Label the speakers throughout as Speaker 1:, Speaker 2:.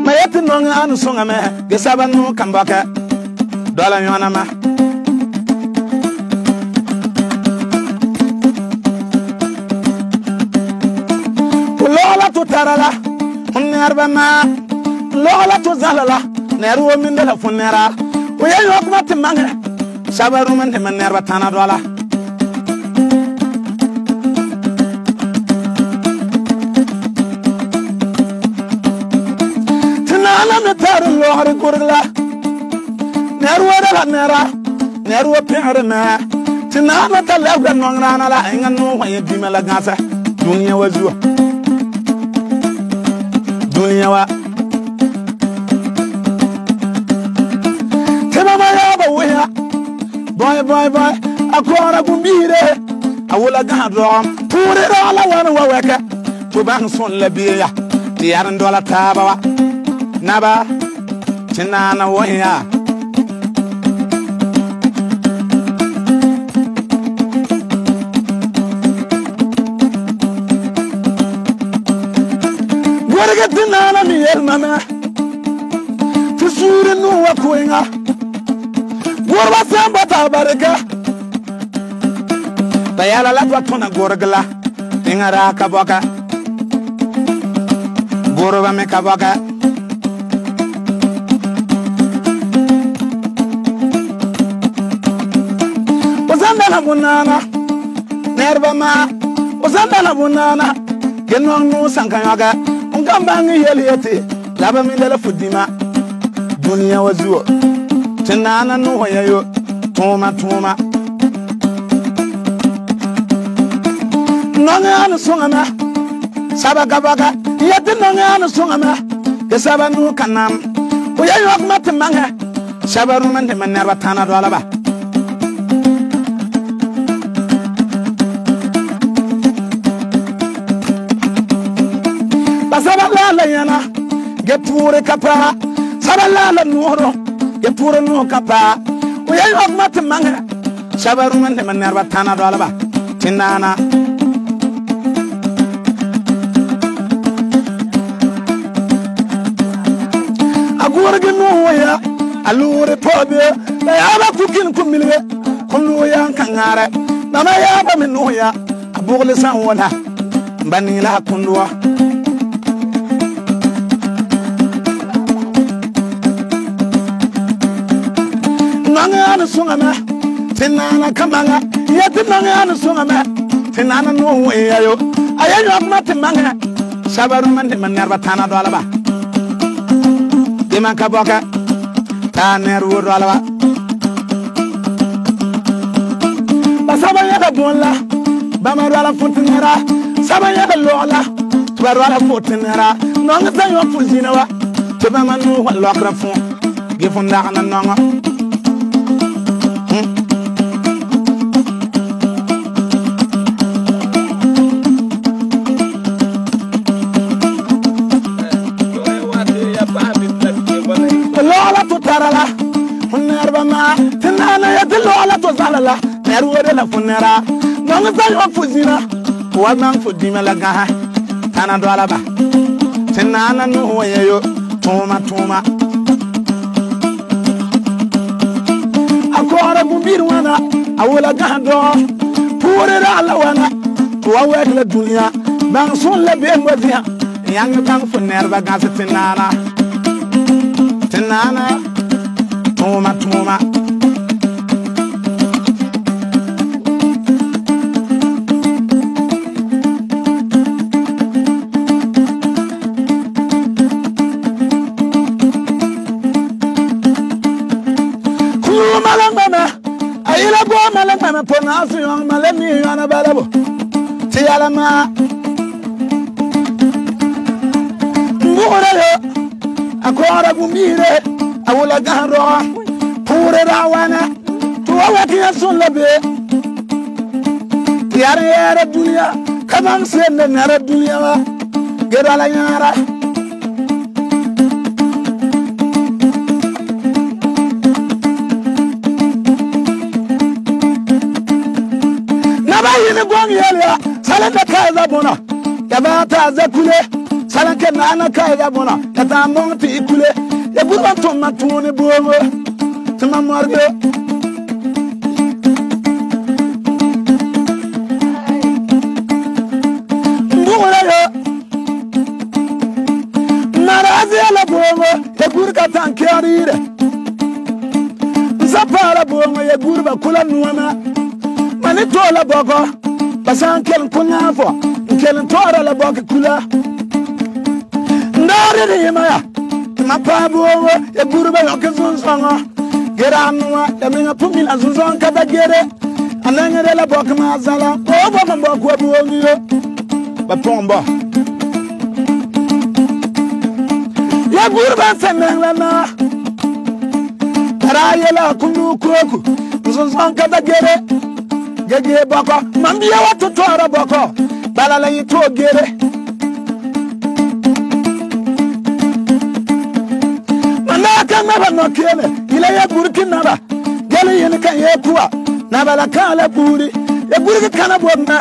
Speaker 1: Ma yeti nong anu songa me ge saba nu kan baka dola yona ma lola to tarala nerba ma lola to zalala neru wo min dela funera wo ya yok ma timanga sabaru man de nerba tana dola tinana me tar lohri kurla neru wo dela nera neru wo pere ma tinana ta lewda nongrana la inga no wa yedima la gasa dunya wazuwa dunya wa tema ma ya ba wuya boy akora gumbire awula gadrom pure ala wana wa weka to ban son la biya ti yaran dola taba wa naba tinana wuya tinana mi elmama tusure no wa kuenga gorba samba tabarega tayala la tona gorgla ingara kaboka gorba me kaboka ozanda na bunana nerba ma ozanda na bunana genong no sankanyaga gambangi yeliyete laba min dala fudima dunya wazuo tinana no hoyayo tuma nonga anu songama saba gabaga yete nonga anu songama ke saba nu kanam oyayo akmat manga saba ruman de manerba tana do alaba sabala yana gepure kapa sabala nuoro gepure no kapa o yayi okmat manga sabaru man de manerba tana do alaba tinana agora ge no ya alure pobe la yaba kukin kumilwe kunu ya kangare nana yaba min no ya abugle san wala banila kundwa nanga sungama tinana kamanga yeti nanga sungama tinana no weyayo ayanyo akmati manga sabaru mande manerba tana do alaba deman kaboka taner wo do alaba basabanya da bonla bamaru ala futinera sabanya da lola tubaru ala futinera nonga tanyo fuzina wa tebamanu lokra fun gefunda kana nonga lola to tarala nerba ma tinana ya de lola to zalala neru de la funera nonga tanyo fuzina wa man fudima la gaha tana do alaba tinana no wayo tuma akora bumbir wana awula gahdo pure ala wana wa wekla dunya ban son la be ngwadia yang bang funerba gas tinana tuma malangana ayila go malangana pona afiyon malemi yana balabo tiyalama ngore akora gumbire awula gahro pure rawana tuwa kiya sunlabe yare dunya kamam sen nara dunya wa gedala yara nabayini gwang yelya salata kaza bona yabata zakule salan ke nana kai ga bona ya ta mong ti ikule ya burba to matuni bongo tuma morgo mbura yo narazi ala bongo ya gurka tankiyarire zapara bongo ya gurba kula nuwana mani tola boko basan kel kunyafo kel tora la boko kula ndare de yemaya mapa bongo ya gurba yokezon songo geranwa ya minga pumil azuzon kada gere anangere la boko mazala o boko boko bongo yo ba pomba ya gurba senengla na tarayela kunu koku azuzon kada gere gege boko mambiya watu tora boko balala yito gere manaka naba no kele ile ya burki naba gele yin kan ye kuwa naba la kala buri ya burki kana bonna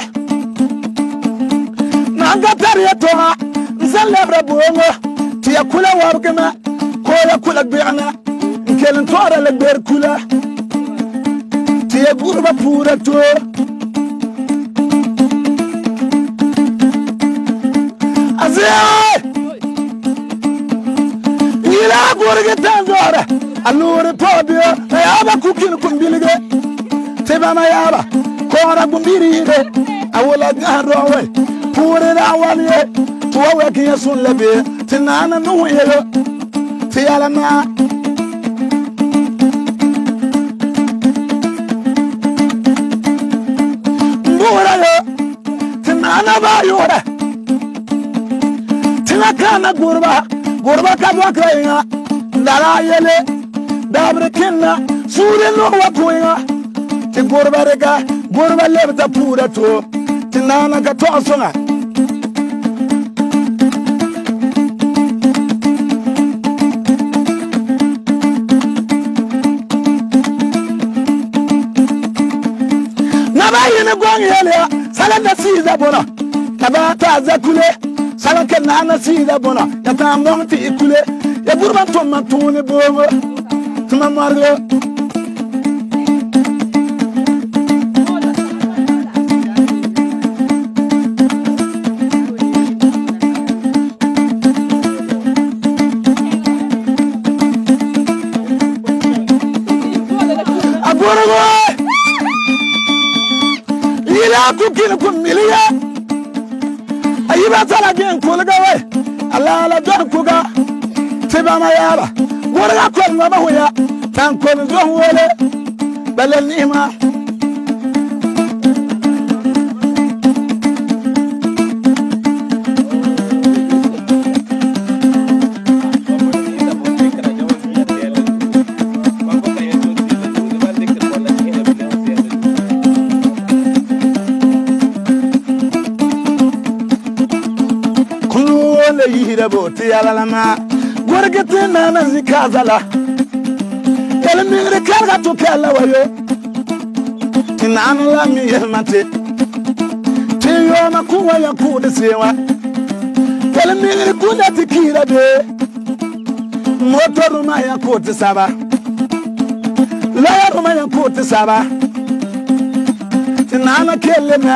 Speaker 1: nanga tariya toha nsalebra bongo ti ya kula wargana ko ya kula bi'na kelen tora le ber kula gurba pura to azia ila gurga tanzora alure podio yaba kukin kumbilige teba ma yaba kora gumbiride awala garowe pura awaliye tuwa ki yasun lebe tinana no yelo tiyala na tinana ba yora tinakana gurba ka bakayinga ndara yele dabre kinna sure no wapoyinga ti gurba rega gurba lebta pura to tinana ka to songa nabayine gong yele salan da siza bona tabata zakule salan ke nana siza bona ya tambong ti ikule ya burban to matune bongo tuma margo agorgo ila kukin kumiliya ayiba tala gen kulga we ala la don kuga tiba ma yaba gorga kon ma hoya tan kon zo wole balal nima boti yalalama gorgete nana zikazala kelmingre karga to kala wayo tinana la mi yelmate tiyo makuwa ya kude sewa kelmingre kuda tikira de motoru ma ya kote saba la ya ma ya kote saba tinana kelme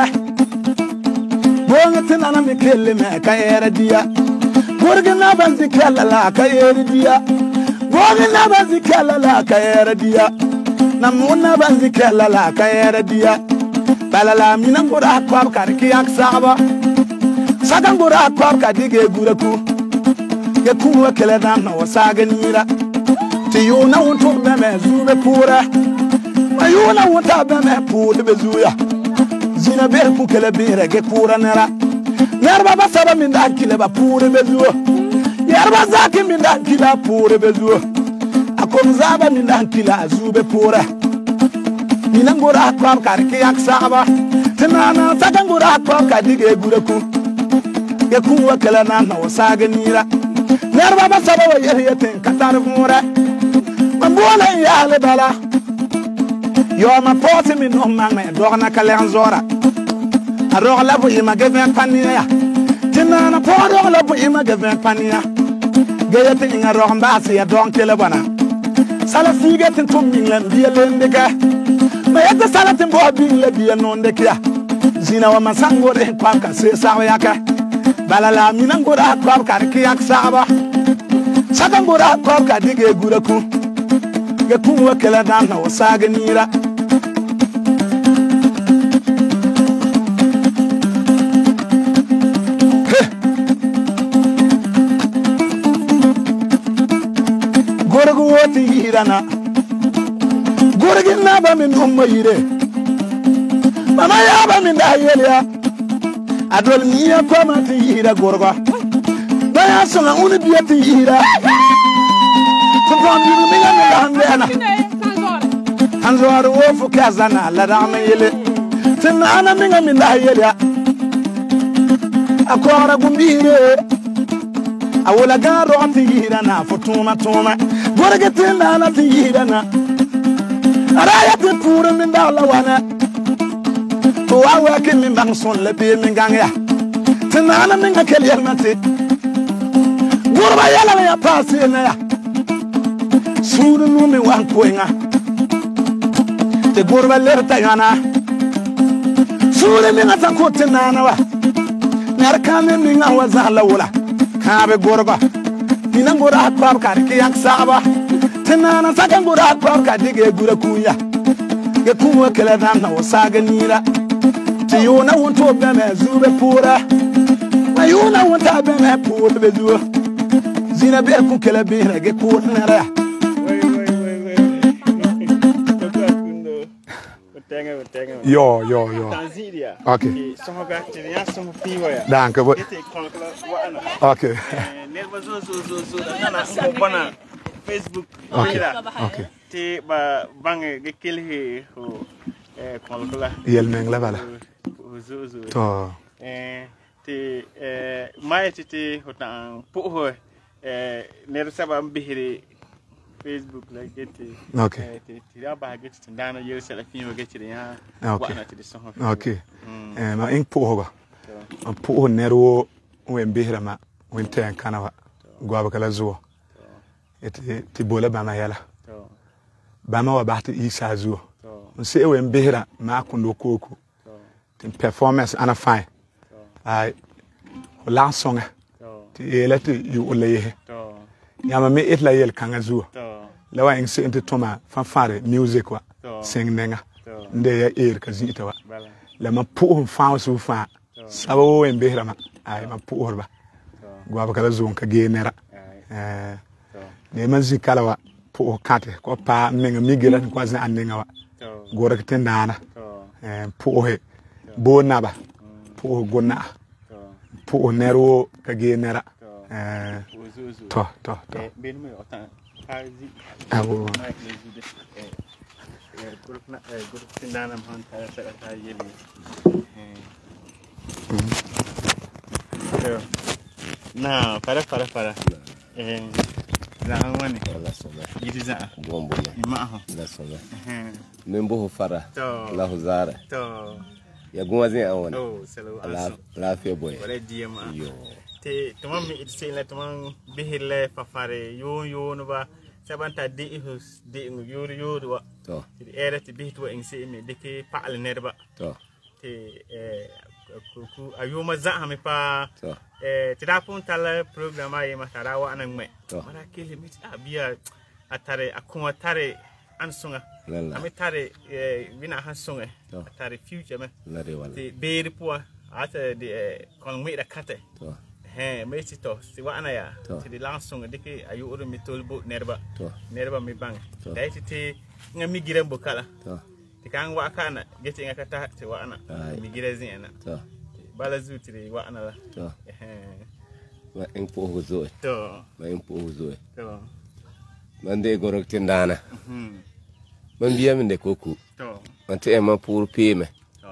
Speaker 1: bonga tinana mi kelme kayera dia gorgina banzi kala ka yerdiya gorgina banzi kala ka yerdiya namuna banzi kala ka yerdiya balala minan gora kwab karki yak saba sagan gora kwab ka dige guraku ke kuwa kala dan na wasaganira ti yuna wonto be me zube pura ayuna wonta be me pura be zuya zina be ku kala be rege pura nara yarba basaba min da kile ba pure bezuo yarba zaki min da kila pure bezuo akom zaba min da kila zube pura minangora kwam karki yak saba tinana sagangora kwam ka dige guraku ke kuwa kala na na wasaga nira yarba basaba wa yeriyatin katar mura mambola ya le bala yo ma poti min no mangme dogna kalen zora arog la bu ima geven paniya tinana podo la bu ima gaven pania gayete inga rohamba se ya don kele bana sala sige tin tum minglan biya lendeka mayata sala tin bo bingle biya nonde kya zina wa masango de kwam ka se sawa yaka balala minangora kwam ka kiyak saba sakangora kwam ka dige guraku ge kunwa kala dan na wasaga nira gorgo woti hirana gorgo naba min umma yire mama ya ba min da yelia adol miya koma ti hira gorgo baya sona uni biya ti hira tonton mi la mi hande ana hanzor wo fu kazana la da me yele tinna ana min da yelia akora gumbire awula garo ti hirana futuma tuma gorgo tinna ana ti hirana araya ti pura min da la wana to awa ke min bang son le be min gang ya tinana min ka kel yelmate gurba yala ya pase na ya suru nu mi wan koinga te gurba lerta yana suru mi ngata ko tinana wa nar kan min nga wa zala wala ka be gurba dinan gura kwab ka ke yak saba tinana sakan gura kwab ka dige gura kuya ke kuwa kala dan na wasaga nira ti yuna wonto be me zube pura ma yuna wonta be me pura be zuwa zina be ku kala be rage ku nara yo
Speaker 2: Tanzania
Speaker 1: okay
Speaker 2: so ga tinya so fiwa ya
Speaker 1: danke bo okay
Speaker 2: nerva zo na ko bana Facebook
Speaker 1: okay
Speaker 2: ti ba bange ge kelhe ho konkla
Speaker 1: yel meng la bala
Speaker 2: zo
Speaker 1: to
Speaker 2: ti mai ti hotan po ho ner saba mbihiri Facebook like it
Speaker 1: okay
Speaker 2: ti da ba get ndana yel sala fiwo get ya wana ti so
Speaker 1: okay ma ing po ho ba po nerwo wen bihira ma wen ten kanawa gwaba kala zuwa ti bola ba ma yala ba ma wa ba ti isa zuwa se wen bihira ma kundo koko tin performance ana fine ai la songa ti yela ti yu ole yama me itla yel kanga zuwa lawa ing se inte toma fanfare music wa sing nenga nde ya ka zita wa la ma pu fa su fa sabo wen bihira ma ai ma pu horba gwaba kala zuwa ka genera ne man zikala wa pu kate ko pa menga migira ko zan annenga wa gora kete nana pu he bo naba pu gonna pu nero ka genera to
Speaker 2: ben me otan hazi
Speaker 1: awo
Speaker 2: group tindana man ta yeli na para la wani
Speaker 3: la sola
Speaker 2: yidiza
Speaker 3: bombo
Speaker 2: ma ho
Speaker 3: la sola membo fara la huzara
Speaker 2: to
Speaker 3: ya goma zin awon
Speaker 2: selo
Speaker 3: la fe boy
Speaker 2: wala diyama
Speaker 3: yo
Speaker 2: te tumam mi itse la tumam bihille fafare yo no ba sabanta de hus de yo wa
Speaker 3: to
Speaker 2: ti era ti bihto en se mi deke paal nerba
Speaker 3: to
Speaker 2: te ku ayuma za ha mi pa
Speaker 3: to
Speaker 2: ti da pun tal programa ye matara wa anan me
Speaker 3: to
Speaker 2: mara kele mi abia atare akuma tare ansunga ami tare bina hansunga tare future me
Speaker 3: la re wala
Speaker 2: ti beri po ata de kon mi da kate
Speaker 3: to
Speaker 2: me ti to si wa anaya ti de lansunga deke ayu uru mi tolbo nerba mi bang dai ti ngami giran bukala
Speaker 3: to
Speaker 2: ti kan wa kana gete ngakata ti wa ana mi girezin ana
Speaker 3: to
Speaker 2: bala zutri wa ana la
Speaker 3: to ma en po hozo
Speaker 2: to
Speaker 3: ma en po hozo
Speaker 2: to
Speaker 3: mande gorok tindana man biya min de koku
Speaker 2: to
Speaker 3: mante ma pour pime
Speaker 2: to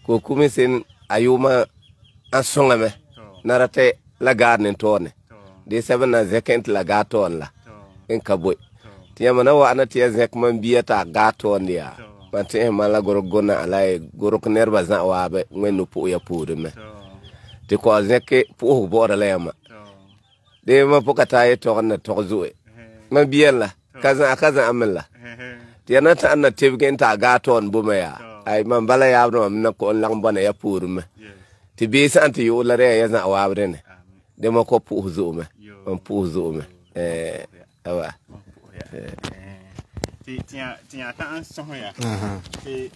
Speaker 3: koku mi sen ayuma asonga me narate la garden tone de sebana zekent la gaton la en kaboy tiyama na wa anati zek man biya ta gaton dia mante ma la gorok gona alay gorok nerba za wa be ngenu po ya pour me te ko zeke puh bora la yama de ma poka ta ye to na to zoe ma bien la kaza amla ti na ta na tebgen ta ga ton bu me ya ay man bala ya no na ko lang bana ya purume ti bi san ti yo la re ya za wa bre ne de ma ko puh zo me man puh zo me awa
Speaker 2: ti ta an so ya ti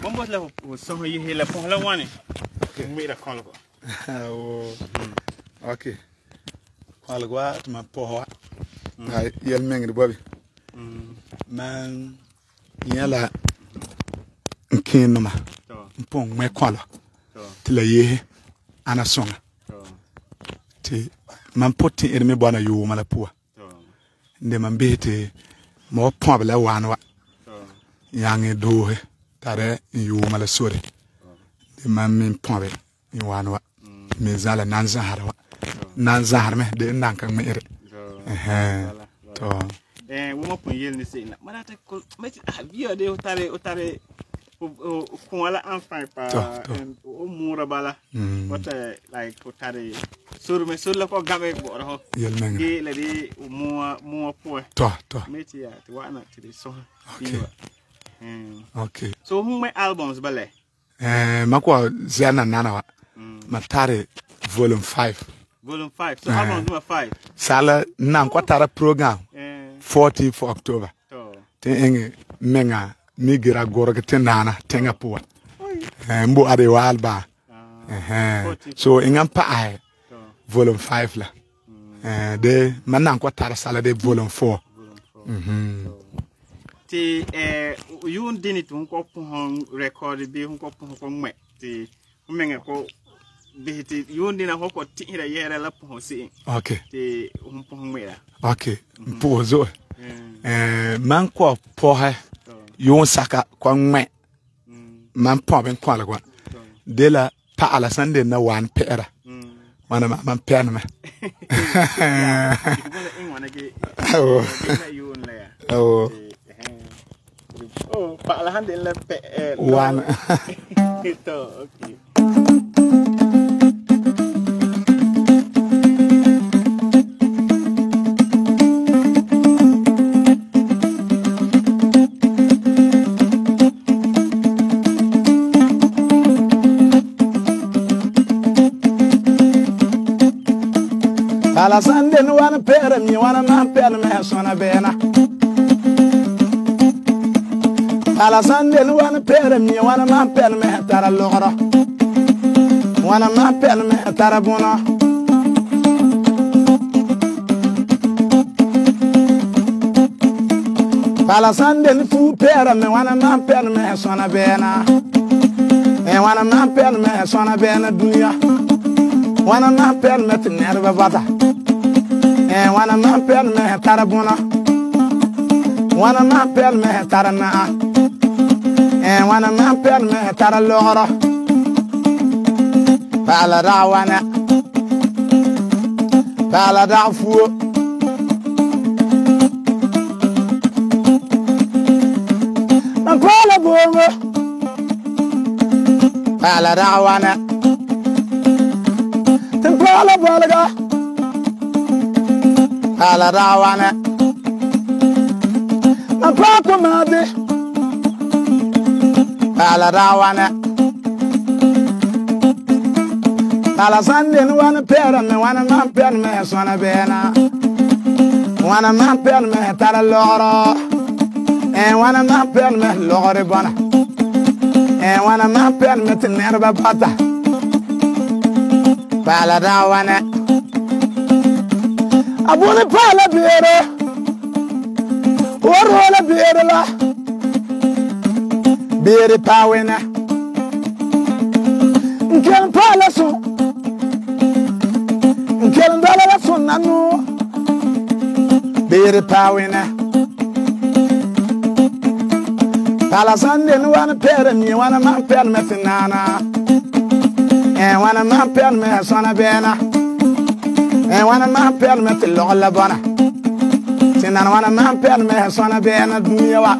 Speaker 2: bombo la so yi hela po la wani mi da kon ko
Speaker 1: okay algwa ma po ay yel mengri bobi man yala nkinuma mpong me kwalo tila ye ana songa ti man poti irme bona yu mala puwa nde man bete mo pobla wanwa yangi dohe tare yu mala sore de man min pobe ni wanwa me zala nan zahar me de nankan me ire to
Speaker 2: wo mo pon yel ni se na marata ko meti biyo de utare ko wala enfant pa o mura bala wata like utare sur la ko gabe bo ro
Speaker 1: yel men
Speaker 2: ge la di mo po
Speaker 1: to
Speaker 2: meti ya ti wana ti so
Speaker 1: okay
Speaker 2: so hum my albums bale
Speaker 1: mako zana nana wa matare volume 5
Speaker 2: so album number 5
Speaker 1: sala nan ko tara program 40 for October te enge menga migira gorga te nana tenga puwa mbo ade walba so ingam pa ai volume 5 la de manan ko tara sala de volume 4
Speaker 2: ti yun dinit hun ko pon record bi hun ko pon ko me ti menga ko bihiti yun dina ko tira yera la pon si
Speaker 1: okay
Speaker 2: ti hun pon me la
Speaker 1: okay pour zo man ko pohe yon saka ko me man po ben ko la kwa de la pa ala sande na wan pera wana man pen me
Speaker 2: oh pa ala hande la pe
Speaker 1: wan
Speaker 2: to okay
Speaker 1: ala sande no wana pera mi wana man pera me sona bena ala sande no wana pera mi wana man pera me tara logoro wana man pera me tara bona ala sande no fu pera me wana man pera me sona bena wana man pera me sona bena dunya wana man pera me nerva bata wana man pel me tara bona wana man pel me tara na wana man pel me tara logoro pala rawana pala dafu man pala bongo pala rawana tin pala bolaga ala rawana apako made ala rawana ala sande no wana pera me wana man pera me sona bena wana man pera me tara loro wana man pera me lore bona wana man pera me tenerba bata ala rawana abone pala bere orola bere la bere pawena nkel pala so nkel ndala la so nanu bere pawena pala sande no wana pere mi wana man pere me tinana wana man pere me sona bena wana man pel me til la bona sinan wana man pel me sona bena dunya wa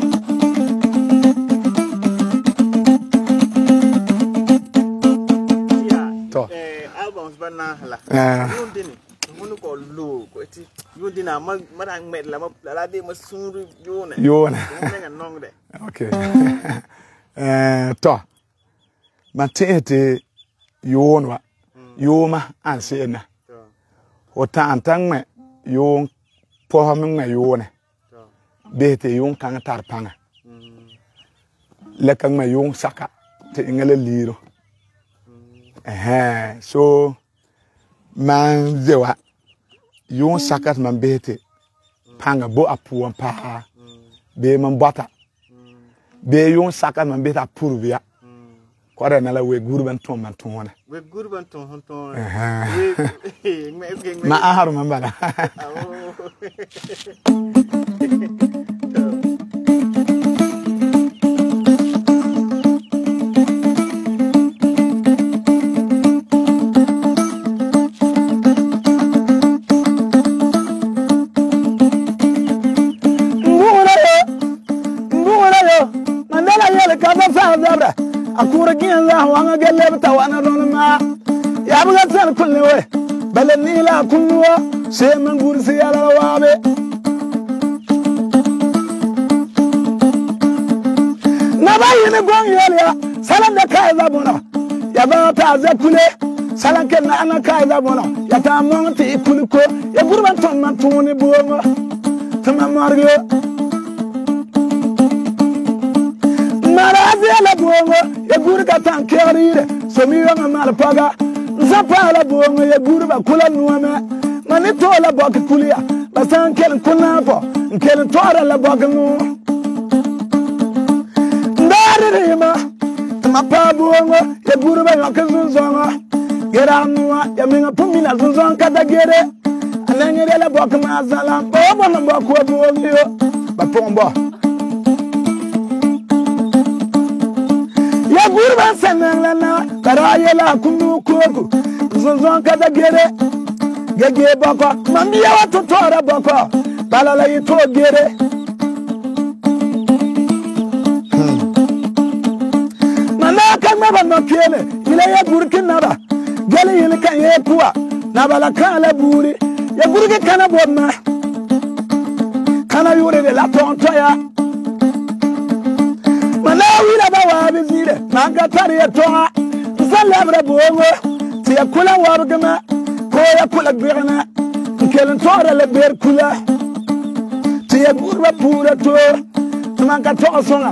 Speaker 2: albums ban ti yo dina ma dang met la la de ma suru yo ne nga nong de
Speaker 1: okay to man te yon wa yoma an se na o ta antang me yon po me me yone be te yon kan tar panga le kan me yon saka te ngale liro so man zewa yon saka man be te panga bo apuan pa be man bata be yon saka man be ta purvia kwara na la we gurban ton man ton wana
Speaker 2: we gurban ton ton
Speaker 1: ma aharu man bala akura gin la wanga gele ta wana don ma ya buga tan kulne we balani la kunwa se man gursi ala wabe na bayine gon yele salan da kai za bona ya ba ta za kule salan ken na ana kai za bona ya ta mon ti kuliko ya gurban ton man tuni bonga tama margo la bongo ya guri ka tan kerire so mi yanga mal paga zapa la bongo ya guri ba kula nuame mani to la bok kulia ba san kel kunna po kel tora la bok nu ndare rima ma pa bongo ya guri ba yakun zonga gera nuwa ya minga pumina zonga kada gere ananyere la bok ma zalam bo bo no bok ko bongo yo ba pombo ya gurban sanan na karaye la kunu koko zonzon kada gere gege bako mambiya wato tora bako balala yito gere mana kan ma ban kele ile ya burkin naba gele ile kan ye kuwa nabala kala buri ya burke kana bomma kana yure de la tontoya wila ba wa bizire manga tari toa zalabra bongo ti akula wargama ko ya kula birna kelen tora le ber kula ti gurba pura to manga to songa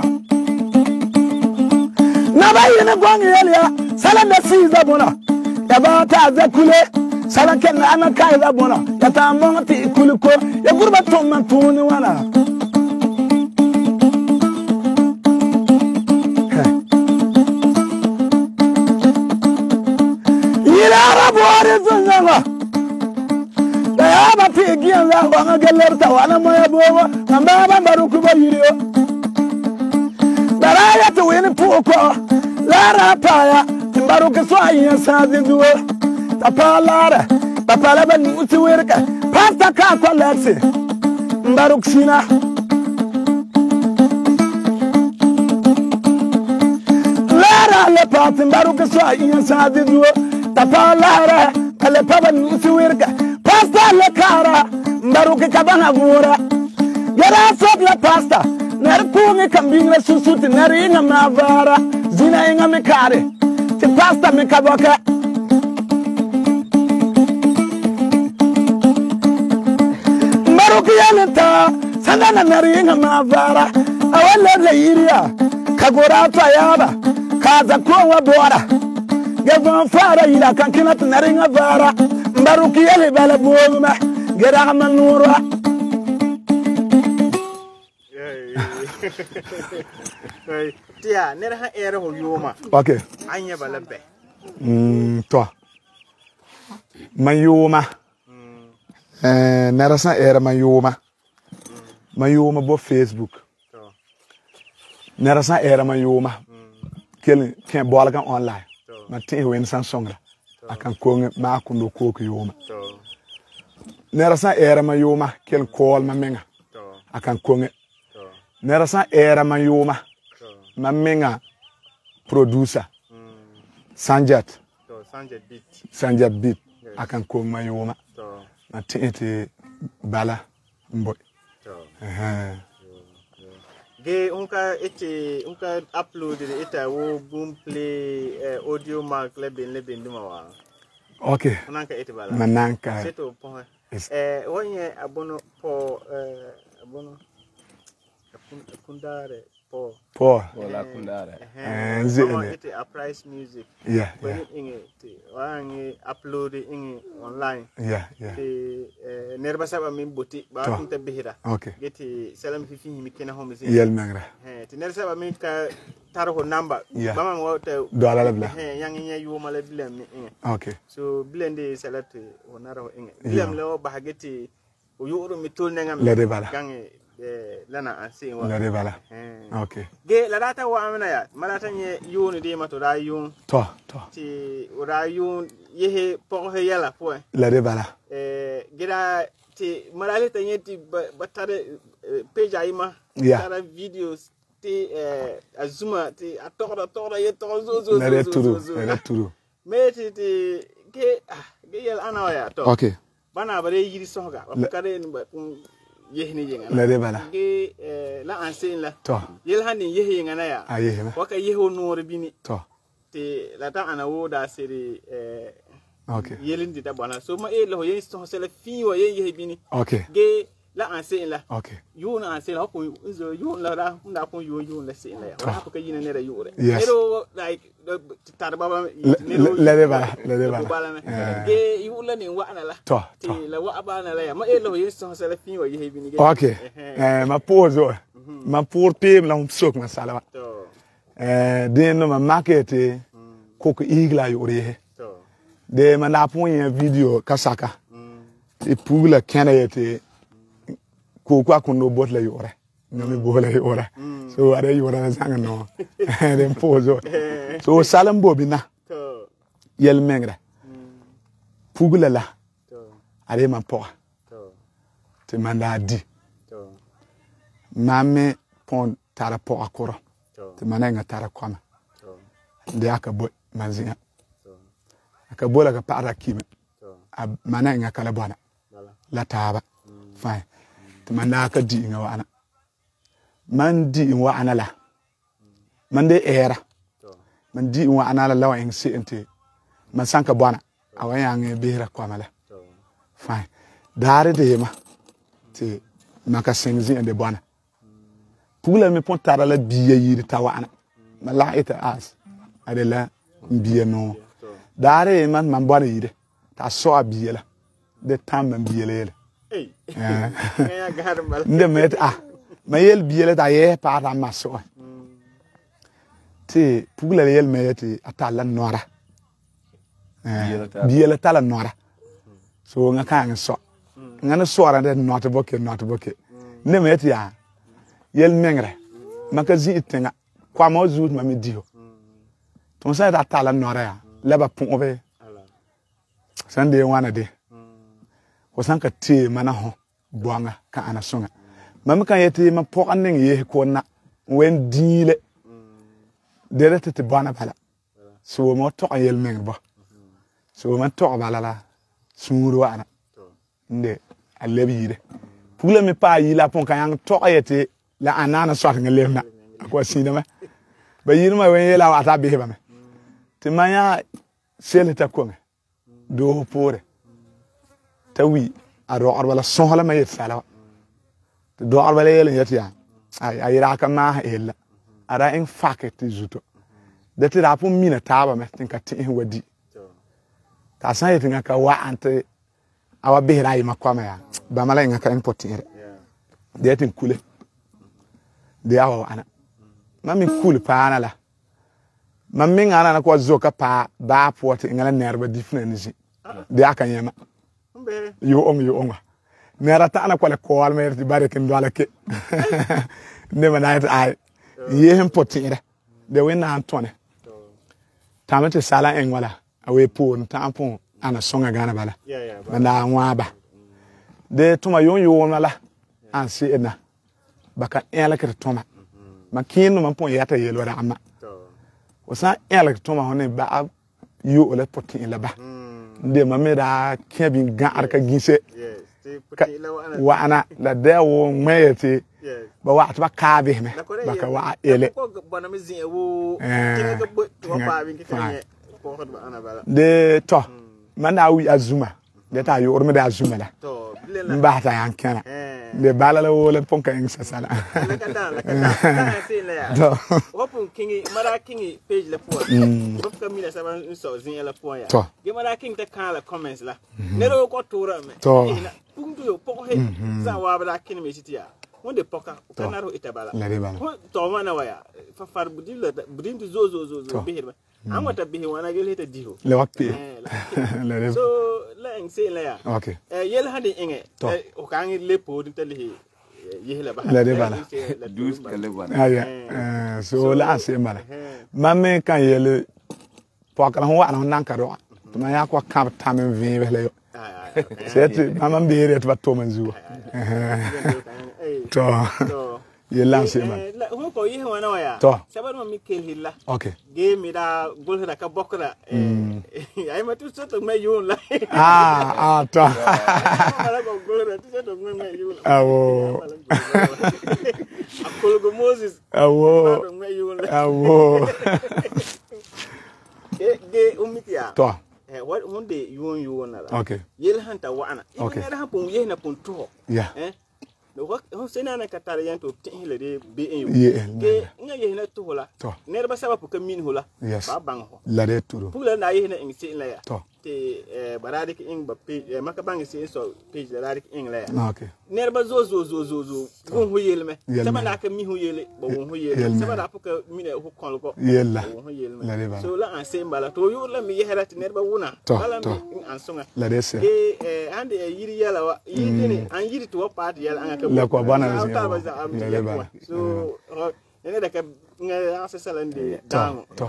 Speaker 1: na ba yene gonga yelia sala na siza bona ya ba ta za kule sala ken ana kai za bona ya ta monga ti kuliko ya gurba to man tuni wala Arabore zunga da ya ba ti giyan za wanga galler ta wana moya bobo amba ba baru ku ba yiro dara ya to wen puko la ra pa ya baru ke so ayin sa duwo ta pa lara ta pa la ba ni uti werka pasta ka ko lexe baru sina lara le pa baru ke so ayin sa duwo tapalara kale paba nusi wirga pasta le kara mbaruke kabana gura yara sop la pasta ner kungi kambingra susuti ner inga mavara zina inga mikare ti pasta mikaboka mbaruke yalenta sandana ner inga mavara awale le iria kagura tayaba kaza kuwa bora Gavon fara ila kankina tunaringa vara mbaruki yele bala boma gera manura
Speaker 2: tia nera ha era ho yoma
Speaker 1: okay
Speaker 2: anya bala be
Speaker 1: to mayoma nera sa era mayoma bo Facebook nera sa era mayoma kel ken bola kan online ma tin wen san songra akan ko ma kundo ko ko yoma nera sa era ma yoma kel kol ma menga akan ko nera sa era ma yoma ma menga producer Sanjat beat akan ko ma yoma ma tin te bala mboy
Speaker 2: ge unka upload ita wo Boomplay audio mark leben duma wa
Speaker 1: okay
Speaker 2: nanka ita bala
Speaker 1: mananka
Speaker 2: seto point wonye abono po abono kundare
Speaker 1: po
Speaker 3: la kundare
Speaker 1: zene
Speaker 2: ita a price music
Speaker 1: yeah
Speaker 2: inge wangi upload inge online
Speaker 1: yeah
Speaker 2: nerba saba min boti ba kunta bihira
Speaker 1: okay
Speaker 2: geti salam fi mi kena homi
Speaker 1: yel mengra
Speaker 2: ti nerba saba min ka taro number bama wota
Speaker 1: do ala la
Speaker 2: yang nya yuma la bilam mi
Speaker 1: okay
Speaker 2: so blende salate wonara inge bilam lo ba geti o yoro mi tol nengam
Speaker 1: le de bala
Speaker 2: gange lana ansi wa
Speaker 1: le de bala okay
Speaker 2: ge la data wa amana ya malata nye yuni de mato da yun
Speaker 1: to
Speaker 2: ti ora yun yehe po he yala po
Speaker 1: le de bala
Speaker 2: gira ti malale tanye ti batare page ayima tara videos ti azuma ti atora ye to zo
Speaker 1: le turu
Speaker 2: me ti ge yel ana ya to
Speaker 1: okay
Speaker 2: bana bare yiri soga wa kare ni ba yehni yenga
Speaker 1: le de bala
Speaker 2: ge la ansin la
Speaker 1: to
Speaker 2: yel hanin yehe yenga na ya
Speaker 1: ayehna
Speaker 2: waka yeho nore bini
Speaker 1: to
Speaker 2: ti la ta ana woda seri
Speaker 1: okay
Speaker 2: yelindi da bana so ma lo yen so sele fi wa yen yehe bini
Speaker 1: okay
Speaker 2: ge la ansin la
Speaker 1: okay
Speaker 2: yuna ansin la ko zo yun la da nda ko yun la sin la ya wa ko yina ne ra yure
Speaker 1: Yes.
Speaker 2: pero like tar baba
Speaker 1: le de bala
Speaker 2: ge yu la ni wa na la
Speaker 1: to
Speaker 2: ti la wa ba na la ya ma lo yen so sele fi wa yehe bini ge
Speaker 1: okay ma pose ma pour pim la sok ma sala
Speaker 2: to
Speaker 1: den no ma market ko ko igla yore
Speaker 2: to
Speaker 1: de ma na pon yen video kasaka e pugla kena yete ko kwa kundo botla yore ngami bola yore so are yore na zanga no den pozo so salam bobina
Speaker 2: to
Speaker 1: yel mengra pugla la
Speaker 2: to
Speaker 1: are ma po
Speaker 2: to
Speaker 1: te manda di
Speaker 2: to
Speaker 1: mame pon tara po akoro
Speaker 2: to
Speaker 1: te mananga tara kwama
Speaker 2: to
Speaker 1: de aka boy manzinga
Speaker 2: to
Speaker 1: aka bola ka para kime
Speaker 2: to
Speaker 1: mananga kala bona
Speaker 2: bala
Speaker 1: la taba fine te manaka di nga wana man di wa anala man de era
Speaker 2: to
Speaker 1: man di wa anala lawa en sente man sanka bona awaya nge behra kwamala
Speaker 2: to
Speaker 1: fine dare de ma te maka senzi ende bona pula me pon tara la biya yiri tawana mala ita as adela biya no dare man bona yire ta so abiya la de tam man biya le
Speaker 2: ya garbal
Speaker 1: nde met ma yel biya la ta ye pa ta maso te pula yel me te atala nora biya la tala nora so nga kan so ngana so ara de not boke ne met ya yel mengre maka zi itenga kwa mo zut ma mi dio ton sa ta tala nora ya leba pon be san de wana de ko san ka te mana ho boanga ka ana songa mam kan yete ma po anen ye ko na wen dile de te bana bala so mo to yel mengre ba so man to bala la suru wana nde alebi yire pula mi pa yila pon kan yang to yete la anana so kan lemna ko sinama ba yirma wen yela wata be ba me te manya sele ta ko me do pore tawi aro arbala sohla ma yetsala te do arbala yele yetiya ay ra ka ma ella ara en faket zuto de te ra pon mina taba me tin ka tin wadi ta san yetinga ka wa ante awa behra yi makwama ya ba mala nga ka importere de tin kule de awa ana mami kule pa ana la mami ngana na ko zoka pa ba pote ngala nerba different de aka yema yo onga nera ta ana kwale ko al mer ti bare kin do ala ke ne mana ay ye importere de wena antone tamate sala en wala awe pon tampon ana songa gana bala banda ngwaba de tuma yon mala ansi ena baka ela ke tuma makino man pon yata yelo da amma wasa ela ke tuma hone ba yo le potin la ba de mameda kebin ga arka ginse wa'ana la da wo ŋmɛyɛ ba wa ba kaabe me ba ka wa ele de to man na wi azuma de ta yor me da azuma la mba ta yan kana de bala la wo le ponka en sasala
Speaker 2: to hopun kingi mara kingi page la po hop ka mina saban so zin la po ya ge mara king ta kala comments la ne ro ko tora me puntu yo poko he za wa bala kin me sitia wonde poka kanaro itabala to mana waya fa far budin tu zo behirba an wata bihi wana gel heta diho
Speaker 1: le wakti
Speaker 2: so la en se la ya
Speaker 1: okay
Speaker 2: yel hande inge o kangi lepo din tali yehla ba
Speaker 1: la de bala
Speaker 3: dus kale bana
Speaker 1: aya so la se mala mamme kan yel poka la wa na nan ka do ma ya ko kam tamen vi le yo c'est maman bere to to manzu to ye lance man
Speaker 2: ho ko yi wana waya sabano mikel hilla
Speaker 1: okay
Speaker 2: ge mi da gol da ka bokra ay ma tu soto me yun la
Speaker 1: to
Speaker 2: ala ko gol da tu soto me yun
Speaker 1: awo
Speaker 2: akol go Moses me yun
Speaker 1: awo
Speaker 2: ge umitia
Speaker 1: to
Speaker 2: what one day you na
Speaker 1: okay
Speaker 2: yel hanta wana okay na hapon ye na pon to no ho sena na katare yanto tin le de be en ke nga ye na to la ne ba saba ka min hola ba bang ho
Speaker 1: la de turo
Speaker 2: pula na ye na en sin la ya te barade ki ing ba page maka bang sin so page la rade ki ing la ya
Speaker 1: okay
Speaker 2: ne ba zo gon ho yele me saba na ka mi ho yele ba won ho yele saba na ka mi ne ho kon ko
Speaker 1: yella
Speaker 2: ho yele me so la an sem bala to yo la mi ye hera ti ne ba wona bala mi an songa
Speaker 1: la de se
Speaker 2: ande yiri yala wa yiri ni an yiri to part yala an
Speaker 1: la ko bana
Speaker 2: so ene da ka nga asa salande dango
Speaker 1: to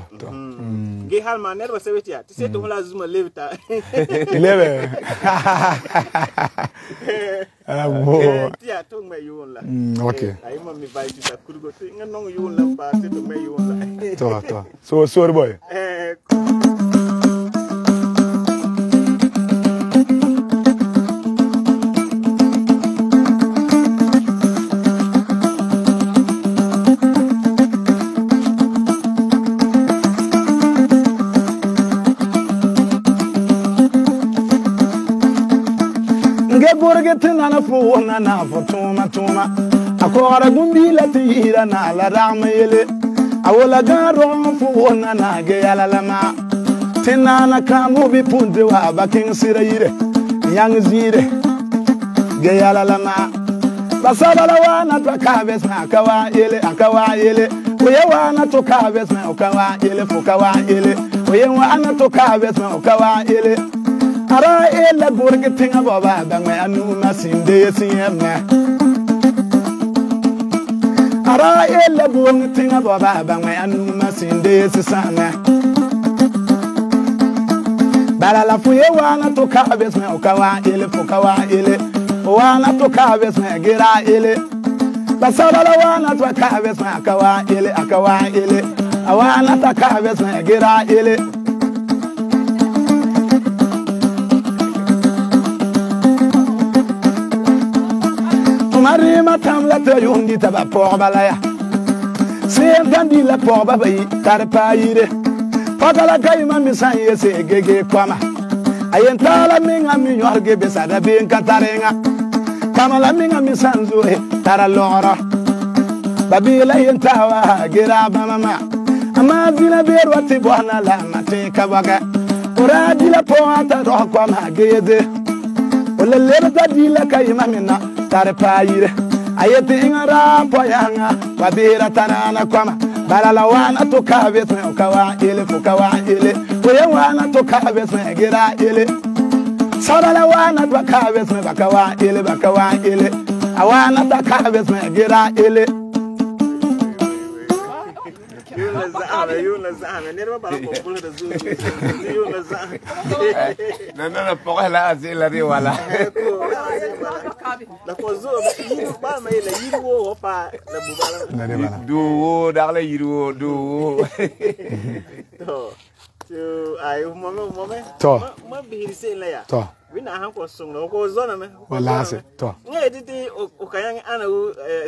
Speaker 2: ge hal ma nerva sewetia ti seto hola zuma levita
Speaker 1: leve abo
Speaker 2: tia to me yun la
Speaker 1: okay
Speaker 2: ay ma mi vai ta kurgo ti nga nong yun la pa seto me yun la
Speaker 1: to so sorry boy Nana fu na fu tuma akora gumbi la tira na la ramele awola garo fu na ge yala lama tinana kamu bi punde wa bakin sirayire yang zire ge yala lama basala la wana to kabes na akawa yele oye wana to kabes na akawa yele fu kawa yele oye wana to kabes na akawa yele ara ela burge tinga baba bangwe anu masinde siyema ara ela burge tinga baba bangwe anu masinde sisana bala la fuye wana to kabes me okawa ele fukawa ele wana to kabes me gira ele basala la wana to kabes me akawa ele awana to kabes me gira ele Marima tamla te yundi taba porba la ya sentandi la porba bayi tarpa yire pagala kayma misanye se gege kwama ayentala minga minyorge besada bin katarenga kamala minga misanzu tara lora babila yentawa gira mama ama vina berwati bwana la mate kabaga uradi la poata ro kwama gede wala leba dila kayma minna tarpa yire ayete ingara poyanga babira tanana kwama balala wana to kabes me okawa ele fukawa ele oye wana to kabes me gira ele sabala wana to kabes me bakawa ele awana to kabes me gira ele
Speaker 2: yuna zame ne ba ko kula da zuwa yuna zame
Speaker 3: na poka la asila ri wala
Speaker 2: la ko zo ba mai la yiwo pa la bubala
Speaker 3: du da la yiwo du
Speaker 2: to So I moment.
Speaker 1: To.
Speaker 2: Ma bihiri se la ya.
Speaker 1: To.
Speaker 2: We na han ko song lo ko zona me.
Speaker 1: Wala se. To.
Speaker 2: Ngai titi o kayang ana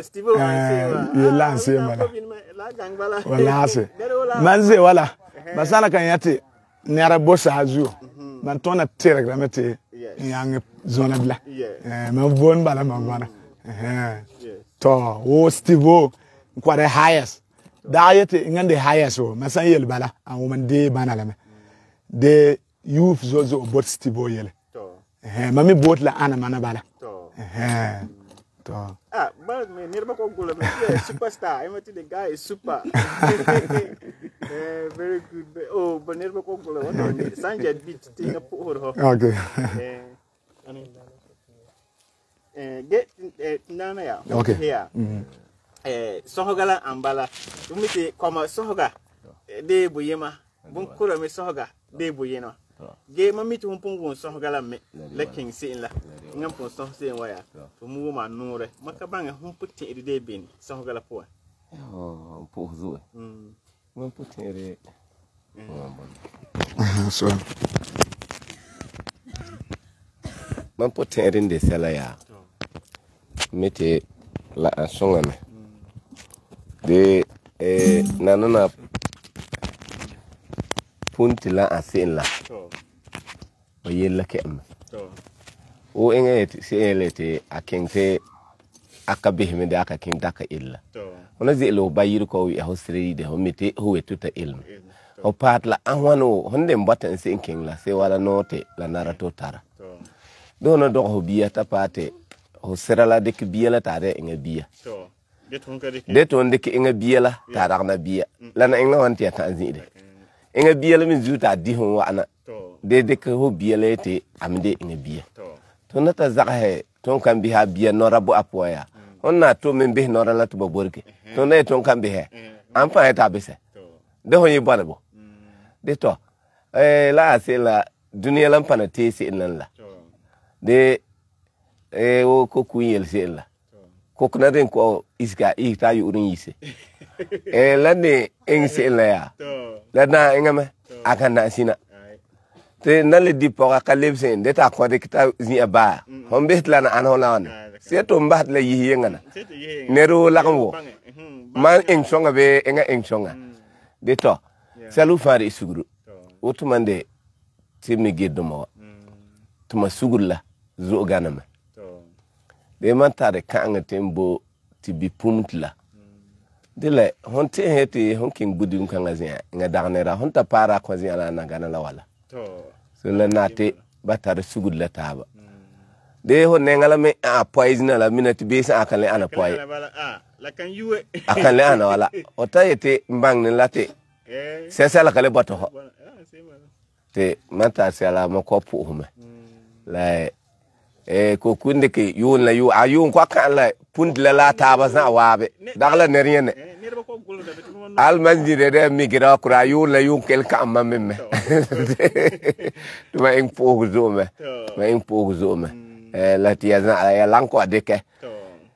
Speaker 2: Steve o
Speaker 1: Ye lance mala.
Speaker 2: La gang bala.
Speaker 1: Wala se. Manze wala. Basala kan yati nera bossa azu. Man tona tere gramete. Yang zona bla. Man bon bala mangwana. To wo Steve kwa the highest. Da yete ngande highest o masan yel bala an woman de banala me. De youth zozo bot Steve yele. Mami bot la ana mana bala. To.
Speaker 2: But me never go goal. Superstar. I the guy is super. Very good. Oh, but never go goal. Sanjay beat thing up over.
Speaker 1: Okay.
Speaker 2: Get nana ya.
Speaker 1: Okay.
Speaker 2: Here. Sohogala ambala. Umiti koma sohoga. De buyema. Bunkura me sohoga. De buyeno. Ge mami tu humpung sohogala me. Leking sin la. Ngam pon soh sin waya. Mu ma nure. Makabanga humputi de bin sohogala po.
Speaker 3: Oh, po zo. Mo putere.
Speaker 1: So.
Speaker 3: Man putere de sala ya. Mete la songa me. De nanana punti la asin la. O yella kem. O engeti selete akente akabihme de akakin daka illa. Ona zelo bayir ko wi hosri de homite huwe tuta ilm. O pat la anwano honde mbata sinking la se wala note la narato tara. Dono do ho biya tapate ho serala de biya la tare inga biya. De ton de inga biya la tara na biya. La na inga wanti ta azide. Inga biya la min zuta di hon wa ana. De ho biya la te amde inga biya. To nata zakahe ton kan biha biya norabu apoya. Onna to men be nora la to borke. To na ton kan bihe. Am fa ta bese. De ho yibana bo. De to la se la duniya lan pana te se nan la. De o ko kuyel se la. Ko kuna den ko iska ita yu urin yise. La ne en se la ya. La na engame aka na sina. Te nale di poka kalebsen de ta ko de kita zi aba. Hombe la na an hola on. Se to mbat la yi ngana. Nero la ko. Man en songa be enga en songa. De to. Salu fari suguru. Otumande timi geddo tuma sugulla zo ganama de man tare kanga tembo tibi pumtla de le honte heti honking budum kanga zia nga dagnera honta para ko zia la ngana la wala so le nate batare sugulla taba de ho nengala me a poison la minute be sa akale ana poy
Speaker 2: la kan yuwe
Speaker 3: akale ana wala o tayete mbang ne late sesa la kale bato te mata sala mo ko puume la ko kunde ke yun la yu ayun ko kan la punt la taba sa wabe dagla ne rien al manjire de migra kura yun la yun kel kam mamme tuma en pogo zome ma en pogo zome la tiazna ya lanko adeke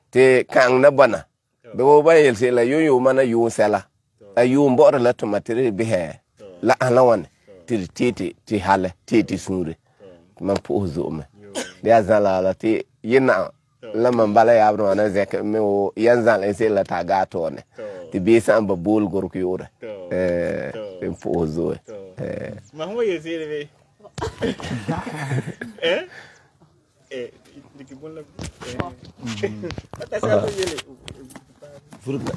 Speaker 3: te kan na bana do ba yel se la yu mana yu sala ayun bor la to materi be la alawan titi ti hale titi sure man po zome dia zala la ti yina la man bala ya bro na zek me o yanzal en se la taga to ne ti be san ba bol gor ko yore en po zo
Speaker 2: ma ho ye se le diki bon la ta sa yele
Speaker 3: furta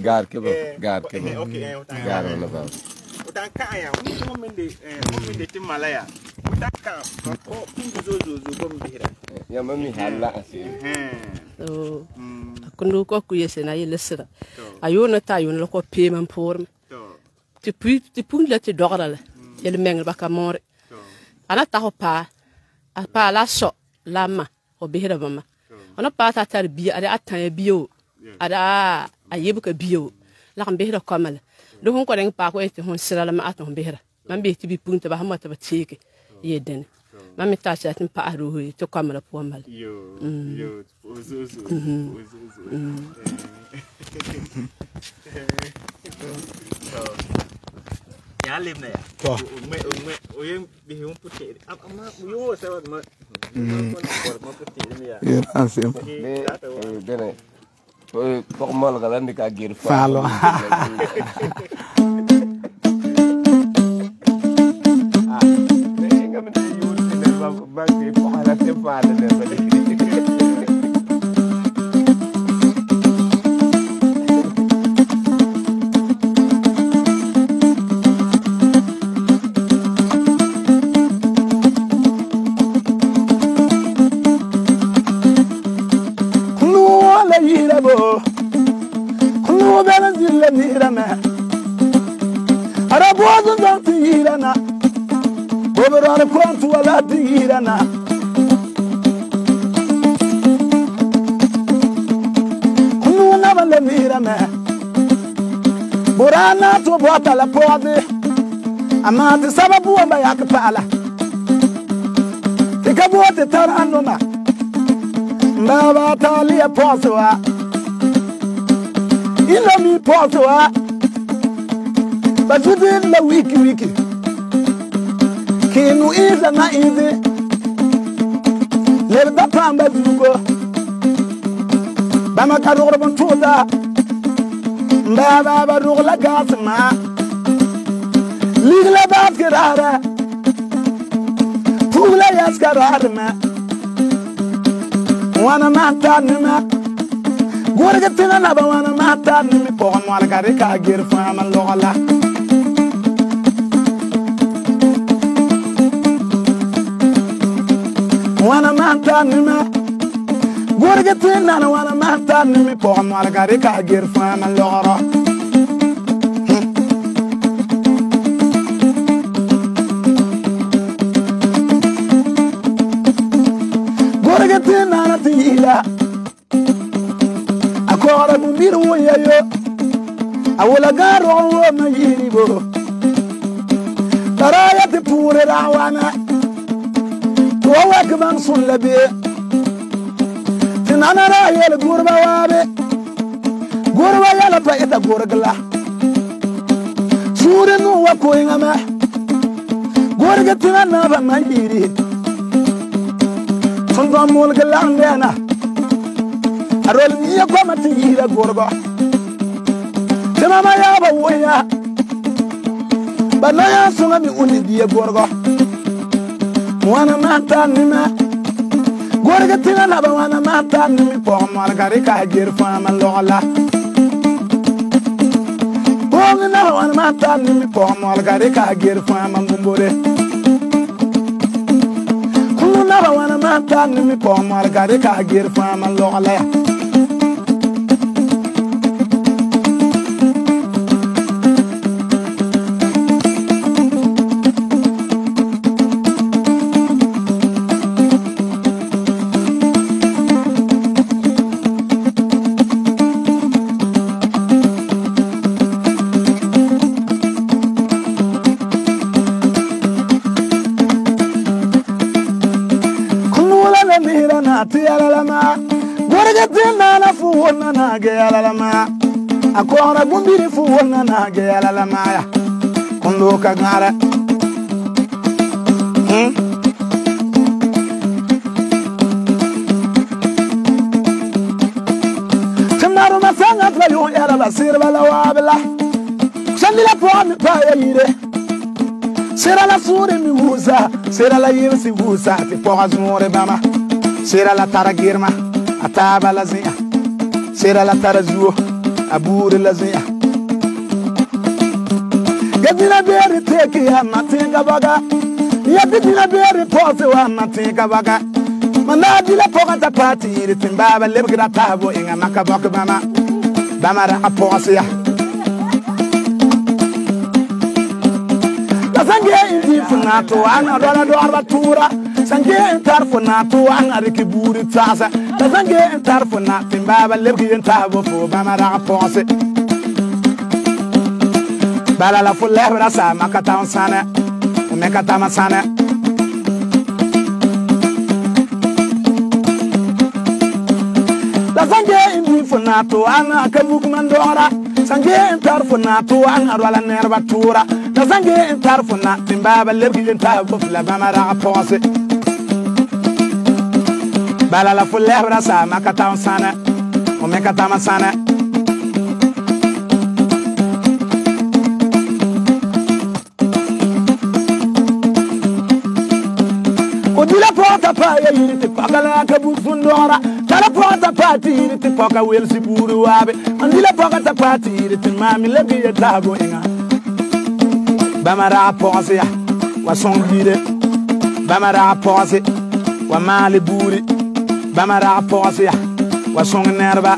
Speaker 3: gar ke ba
Speaker 2: okay
Speaker 3: gar na ba
Speaker 2: utan kaya mo mende timalaya utan ka ko pungu zo bom bihira
Speaker 3: ya mami hala ase
Speaker 4: kundu ko ku yese na yele sira ayona ta ayona ko payment pour ti pung la ti dogara la yele meng ba ka more ana ta ho pa la so lama o bihira bama ona pa ta tar bi ada atan biyo ada ayebuka biyo la kan bihira kamala do hon ko den pa ko ete hon sira la ma aton bihira man be ti bi punta ba hamata ba tike yeden Mam mi ta chatin pa ruhi to kamera po mal.
Speaker 2: Yo. Ya lim na ya.
Speaker 1: To.
Speaker 2: O yem bi hum puti. Ama yo sa wat ma. Ma puti ni ya.
Speaker 1: Ya asim.
Speaker 3: Bene. Pok mal galan di ka gir
Speaker 1: Falo.
Speaker 3: Bangke pahala tempat ada balik.
Speaker 1: Kuno la yira bo, kuno bela zilla nira me. Arabo zan tira na. Boberana kwantu wala tirana Kunu na bale mirame Borana to bota la pode Amati sababu wamba yakpala Tikabote taranoma Mbaba talia poswa Ila mi poswa Bajudin la wiki Kinu iza na izi Lerda pamba zugo Bama karugla bantuda Mbaba barugla gasma Ligla baskirara Pula yaskararma Wana mata nima Gurga tina naba wana mata nimi Pohan wala karika girfa man logala Wana mata nima Gurga tina na wana mata nimi Pohan wala karika girfa man logala Gurga tina na tila Akora bumbiru yayo Awula garo wa mayiri bo Taraya te pure rawana Tuwa kman sun labi Tinana raya la gurba wabe Gurba yala pa ita gurgla Sure nuwa kuinga me Gurga tinana ba mayiri Tundwa mulga langdena Arol niya kwa matihira gurba Timama yaba woya Banaya sunga mi uni diya gurba Wana mata nima Gurga tina naba wana mata nimi Pogam wala karika girfa man logala Pogam naba wana mata nimi Pogam wala karika girfa man bumbure Kulu naba wana mata nimi Pogam wala karika girfa man logala na fuwona na geyala lama akora bumbiri fuwona na geyala lama ya kondo ka ngara Tamaru masanga tlayo yara basir bala wabla Shandila po mi pa yire Sera la sure mi wusa sera la yirsi wusa ti po azmore bama sera la taragirma ataba la zia sera la tarazuo abure la zia gadina beri teki ya matinga baga ya gadina beri pose wa matinga baga manadi la poka tapati iri timbaba lebgira tabo inga makabok bama ra apose ya sange indi funato ana dola do arbatura sange entar funato ana rikiburi tasa sange entar funat timbaba lebgi entabo fo bamara pose bala la fulle brasa makata on sana mekata masana La sange indi funato ana kabuk mandora. Sange entar funato ana wala nerva tura. La sange entar funat timbaba lebgi entar bufla bamara pose. Bala la fulebra sa makata sana. O mekata masana. Odila porta pa ya yiriti pakala kabuk fundora. Tala porta pati yiriti paka welsi buru wabe. Andila porta pati yiriti mami lebgi etabo inga. Bamara pose ya. Wa songire. Bamara pose. Wa mali buri. Bamara pose ya. Wa song nerva.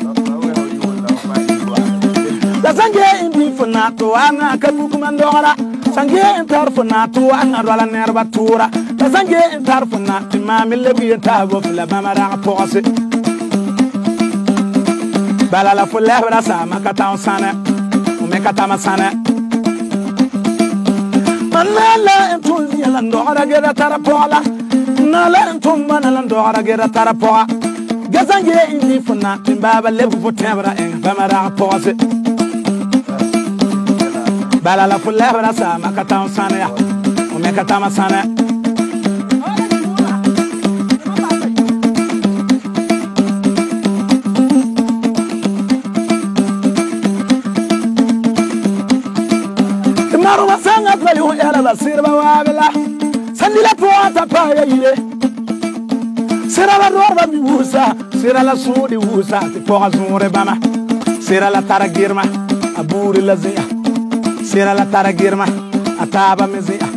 Speaker 1: La sange indi funato ana kabuk mandora. Sange entar funato ana wala nerva tura. La sange entar funat mami lebgi etabo fila bamara pose. Bala la fulebra sa makata sana. O mekata masana. Manala entul yala ndora gera tarapola. Nala entum manala ndora gera tarapola. Gazange indi funat baba lebu potebra en bamara pose. Bala la fulebra sa makata sana ya. O mekata masana. Maruma sanga kweli huyala basirba wabela. Sandila puata pa ya yire. Sira la dorba mi wusa. Sira la sudi wusa. Ti poha zure bama. Sira la taragirma. Aburi la zia. Sira la taragirma. Ataba mezia.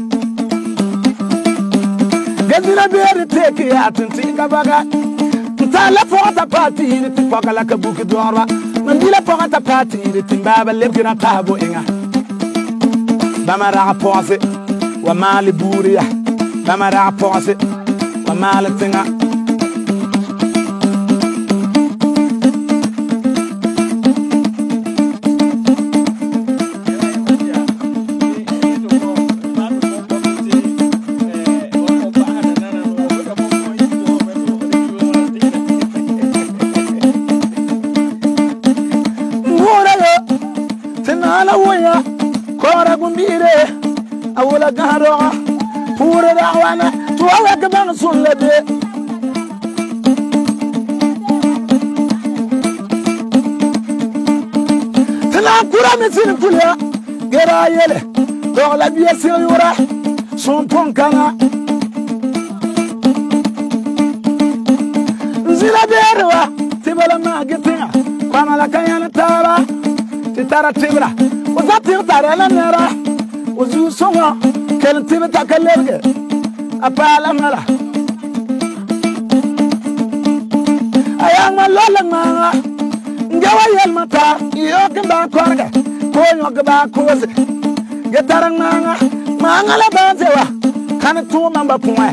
Speaker 1: Gazila beri teki ya tintika baga. Ntala puata pati yire. Ti poka la kabuki dorba. Mandila puata pati yire. Timbaba lebgira tabo inga. Bamara pose. Wa mali buria. Bamara pose. Wa mali tinga. Tinala waya. Kora gumbire awula garo pura dawana tuwa ka ban sullade tana kura mesin kulya gera yele dola biya sirura son ponkana zila berwa tibala magetinga kwamala kayana tara titara tibra Uzatir tarela nera uzu songa kel tibe takallerge apala mara ayang malola manga ngawa yel mata iyo kemba korga konyo gba koze getarang manga la banzewa kan tu mamba puwe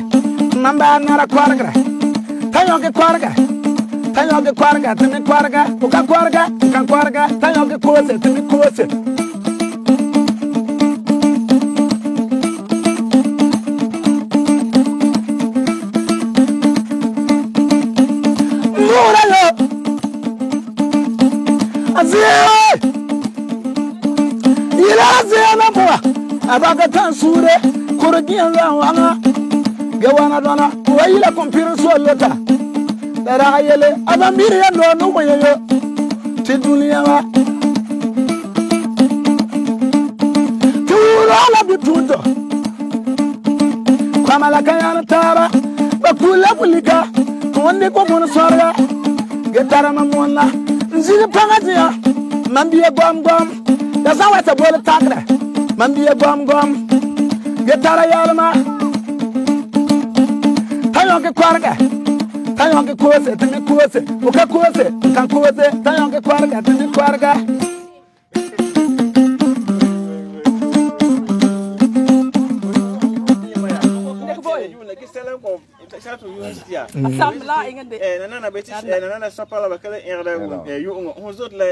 Speaker 1: mamba nara korga tayo ke korga tini korga uka korga tayo ke koze tini koze Abagatan sure kurgiyan wanga gawana dona wayila kompiro solota dara ayele abamiri yando no moyo ti dunia wa turo la bitundo kama la kayana tara bakula bulika wonde ko mon sorga getara mamonna nzini pangatia mambiye gom da zawata bol takra mambiye gom getara yalma tayo ke kwarga tayo ke kose tini kose uka kose kan kose tayo ke kwarga tini kwarga
Speaker 2: nana beti nana sapala bakala erde yu hozot la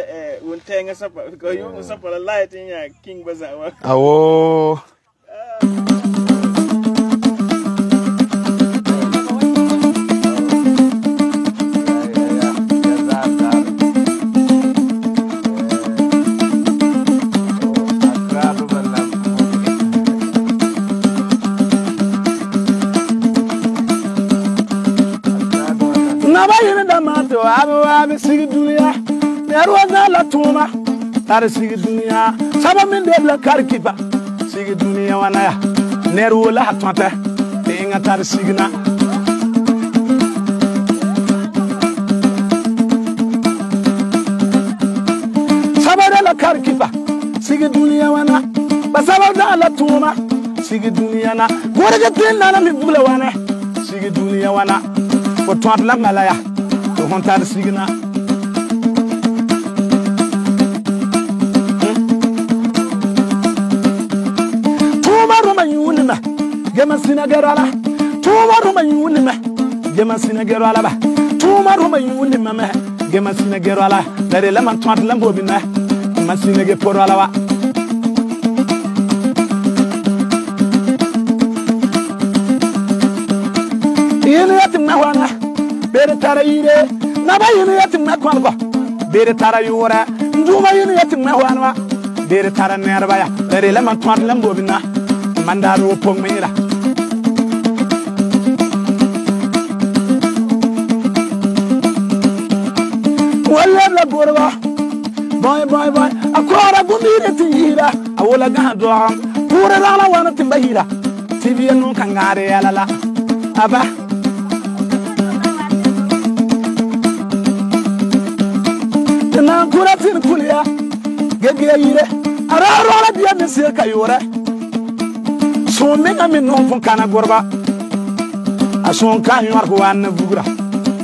Speaker 2: won tenga sapala ko yu sapala lighting ya king baza wa
Speaker 1: awo to abu sigi dunia nerwa na la tuma tar sigi dunia saba min de la karkipa sigi dunia wana ya nerwa la tonta inga tar signa saba de la karkipa sigi dunia wana basaba da la tuma sigi dunia na gorga tin na mi bula wana sigi dunia wana ko tont la malaya to hontar signa tuma roma yunima gema sinagerala tuma roma yunima gema sinagerala ba tuma roma yunima me gema sinagerala dare la man tont la bobina masinege porala wa yene yatim na wana bere tara yire na ba yene yatim na kwanba bere tara yura nduma yene yatim na wana bere tara nerba ya dare la man twant lambo bina mandaro pong mira wala la borwa boy akora gundire tira awola ga do pura la wana timbahira tibiya non kangare yala aba na kuratin kuliya gege yire araro la biya min se kayore so menga min non fon kana gorba ason kan yor ko wan bugra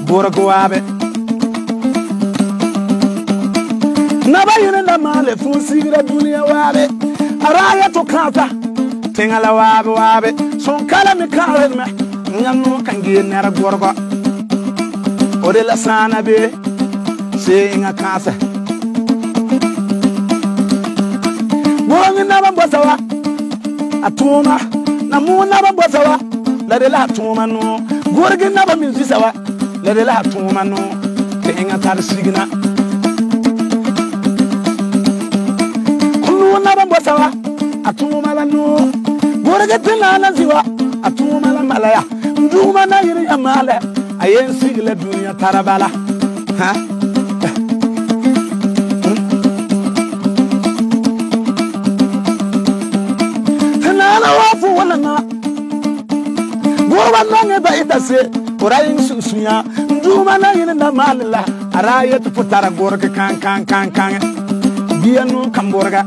Speaker 1: bora ko wabe na ba yire na male fon sigira dunia wabe araya to kata tengala wabe son kala mi kala me nyamno kan ge nera gorba ode la sana be saying a casa. Woman never bosawa, a tuma, Namu never bosawa, let the la tuma no, Gorgon never musisawa, let the la tuma no, paying a tar signa. Kulu never bosawa, a tuma no, Gorgon ziwa, a tuma malaya, Duma Nayri Amala, I ain't sigla dunya tarabala. Huh? Wafu wana na Gowa nange ba itase Orayin susunya Nduma na yine na malila Araya tu putara gorga kan Biya no kamborga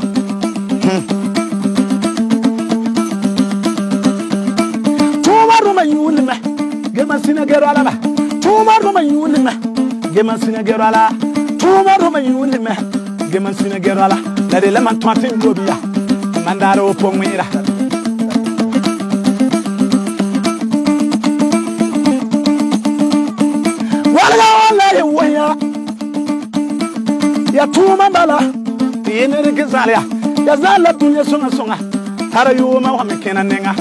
Speaker 1: Tuma roma yuni me Gema sina gero ala ba Tuma roma yuni me Gema sina gero ala Tuma roma yuni me Gema sina gero ala Lade leman tuantin gobiya Mandaro pong mira ya tuma bala tiene de gezalia ya zala dunya songa tara yuma wa mekena nenga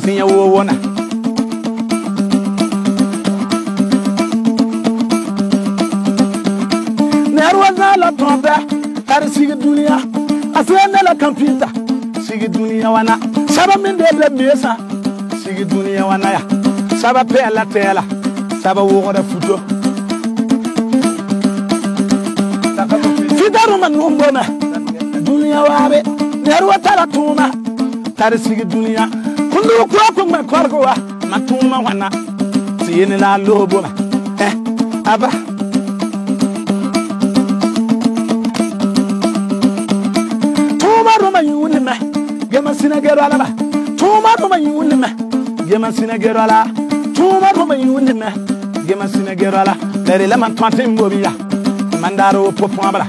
Speaker 1: zinya wo wona nerwa zala tonda tara sigi dunya asena la computer sigi dunya wana saba min de mesa sigi dunya wana ya saba pe la tela saba wo da futo Fidaru man numbona dunia wabe nerwa tala tuma tare sigi dunia kundu ko ma korgo wa matuma wana siyene la lobo aba tuma roma yuni me gema sina gero ala ba tuma roma yuni me gema sina gero ala tuma roma yuni me gema sina gero ala dare la man twante mbobiya mandaro popon abra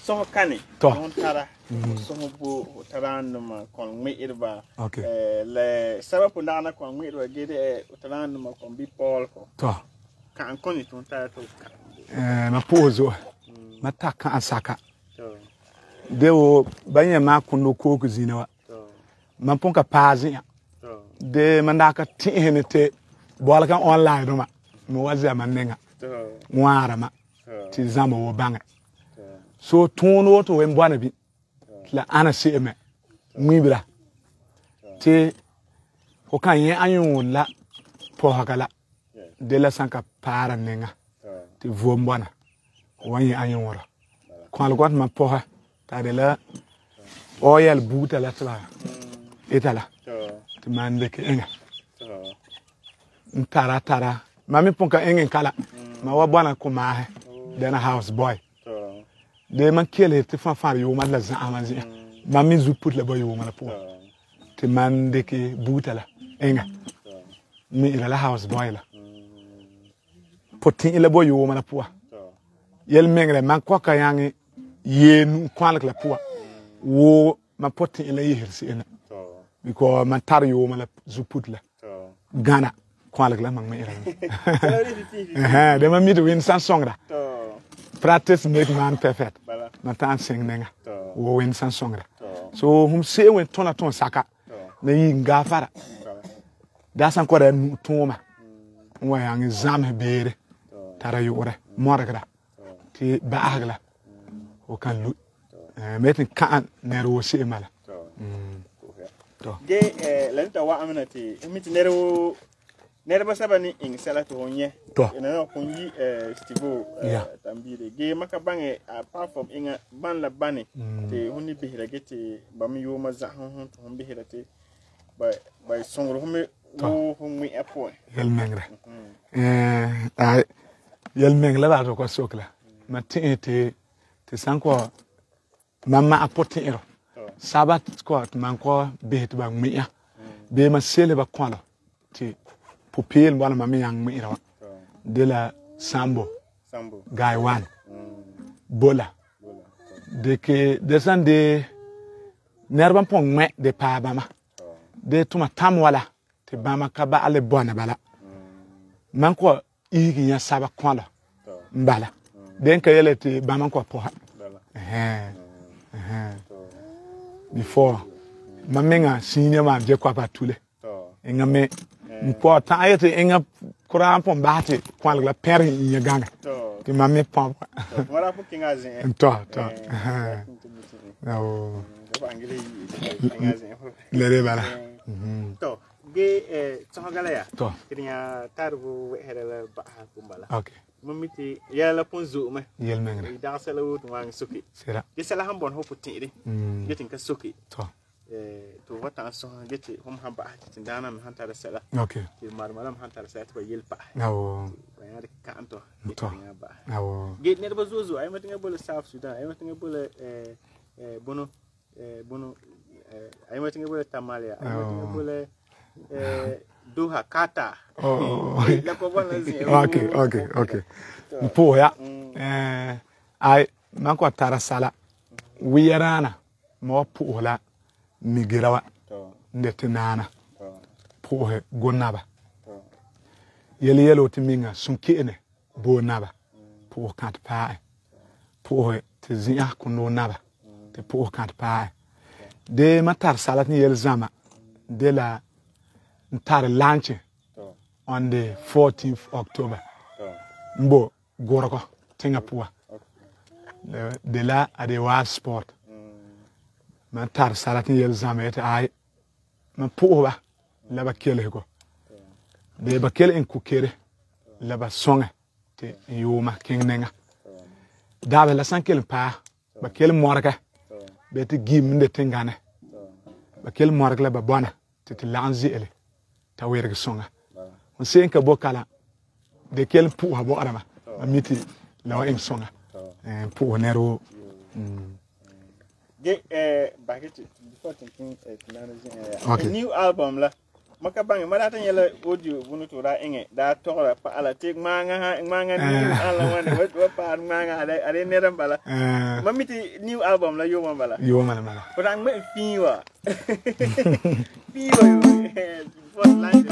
Speaker 2: so kani
Speaker 1: to
Speaker 2: tara so bo taran ma kon me irba
Speaker 1: okay
Speaker 2: le sababu ndana kon me irba gede taran ma kon bi pol ko
Speaker 1: to
Speaker 2: kan koni ton tara to
Speaker 1: ma pozo mataka asaka dewo banye ma kuno ko kuzina wa man ponka pazi de mandaka tihenete bola kan online ma mo wazi man nenga ngwara ma ti zamba wo bange so tono to wen bwana bi la ana se me mwibra te ko kan yen anyun la po hakala de la sanka para nenga te vom bwana wanye anyun wora kwal got ma po ha ta de la oyel buta la tla etala te mande ke enga tara mami ponka engen kala ma wa bwana ko ma he dena house boy de man kele te fan yo ma la za amanzi mami zu put le boy yo ma la po te mande ke buta la enga mi ila la house boy la potin ila boy yo ma la po yel mengre man ko ka yangi yen kwal la po wo ma potin ila yihirsi ena because man tar yo ma la zu put la Ghana kwal la man me ira de man mi to win Samsung da practice make man perfect man tan sing nenga wo win Samsung da so hum se wen tona ton saka na yi ngafara da san ko da tuma wa yang zam bere tara yore morgra ti baagla o kan lu metin kan nero se mala
Speaker 2: to ge lenta wa aminati imiti nere ba sabani in salatu honye ina ko yi stivo tambire ge maka bange apart from inga ban la bani te honni bihira gete bam yo ma za hon to hon bihira te by songro home wo hon apo
Speaker 1: yel mengre ay yel mengla ba to ko sokla matin te sanko mama apote ero sabat ko man ko behit ba miya be ma sele ba kwalo ti pupil wala mami yang miira de la sambo guy one bola de ke descende nerban pon me de pa bama de tuma tam wala te bama ka ba ale bona bala man ko igi ya saba kwalo mbala den ka yele te bama ko po before mamenga senior man je kwa patule ngame mpo ta ayete enga kura pon bati kwal la peri nya ganga ti mame pom
Speaker 2: wala fu kinga zen
Speaker 1: to no
Speaker 2: bangile kinga zen
Speaker 1: lere bala
Speaker 2: to ge tsangala ya
Speaker 1: to
Speaker 2: kinya tarbu herela ba kumbala
Speaker 1: okay
Speaker 2: mamiti yala pon zo me
Speaker 1: yel mengre
Speaker 2: da sala wut wang suki
Speaker 1: sera
Speaker 2: ge sala hambon hopu tiri getin ka suki
Speaker 1: to
Speaker 2: to wata so gete hum hamba tin dana mi hanta da sala
Speaker 1: okay
Speaker 2: ti marmalam hanta da sala to yelpa
Speaker 1: awo
Speaker 2: bayar ka anto
Speaker 1: to awo
Speaker 2: ge ne ba zo ay matinga bole South Sudan ay matinga bole bono ay matinga bole Tamalia ay matinga bole Doha Qatar la ko bona zi
Speaker 1: okay mpo ya ay man ko tara sala wiyarana mo puola migirawa ndetinana puhe gonaba yelo timinga sunkene bo naba puhe kat pae puhe tizia kuno naba te puhe kat pae de matar salat ni yel zama de la ntar lunch on the 14th October mbo goroko Singapore de la adewa sport man tar salatin yel zamet ay man puwa la ba kele ko de ba kele en kukere la ba songa te yuma kingnenga da ba la sankel pa ba kele morga be te gim de tingane ba kele morga la ba bona te lanzi ele ta werga songa on sen ka bokala de kele puwa bo arama amiti la en songa puwa nero
Speaker 2: back it before thinking a new album la maka bangi marata yela audio bunu to ra enge da tora pa ala tek manga new ala wane wa pa manga are ne ran bala mamiti new album la yo mala but I'm me fiwa first line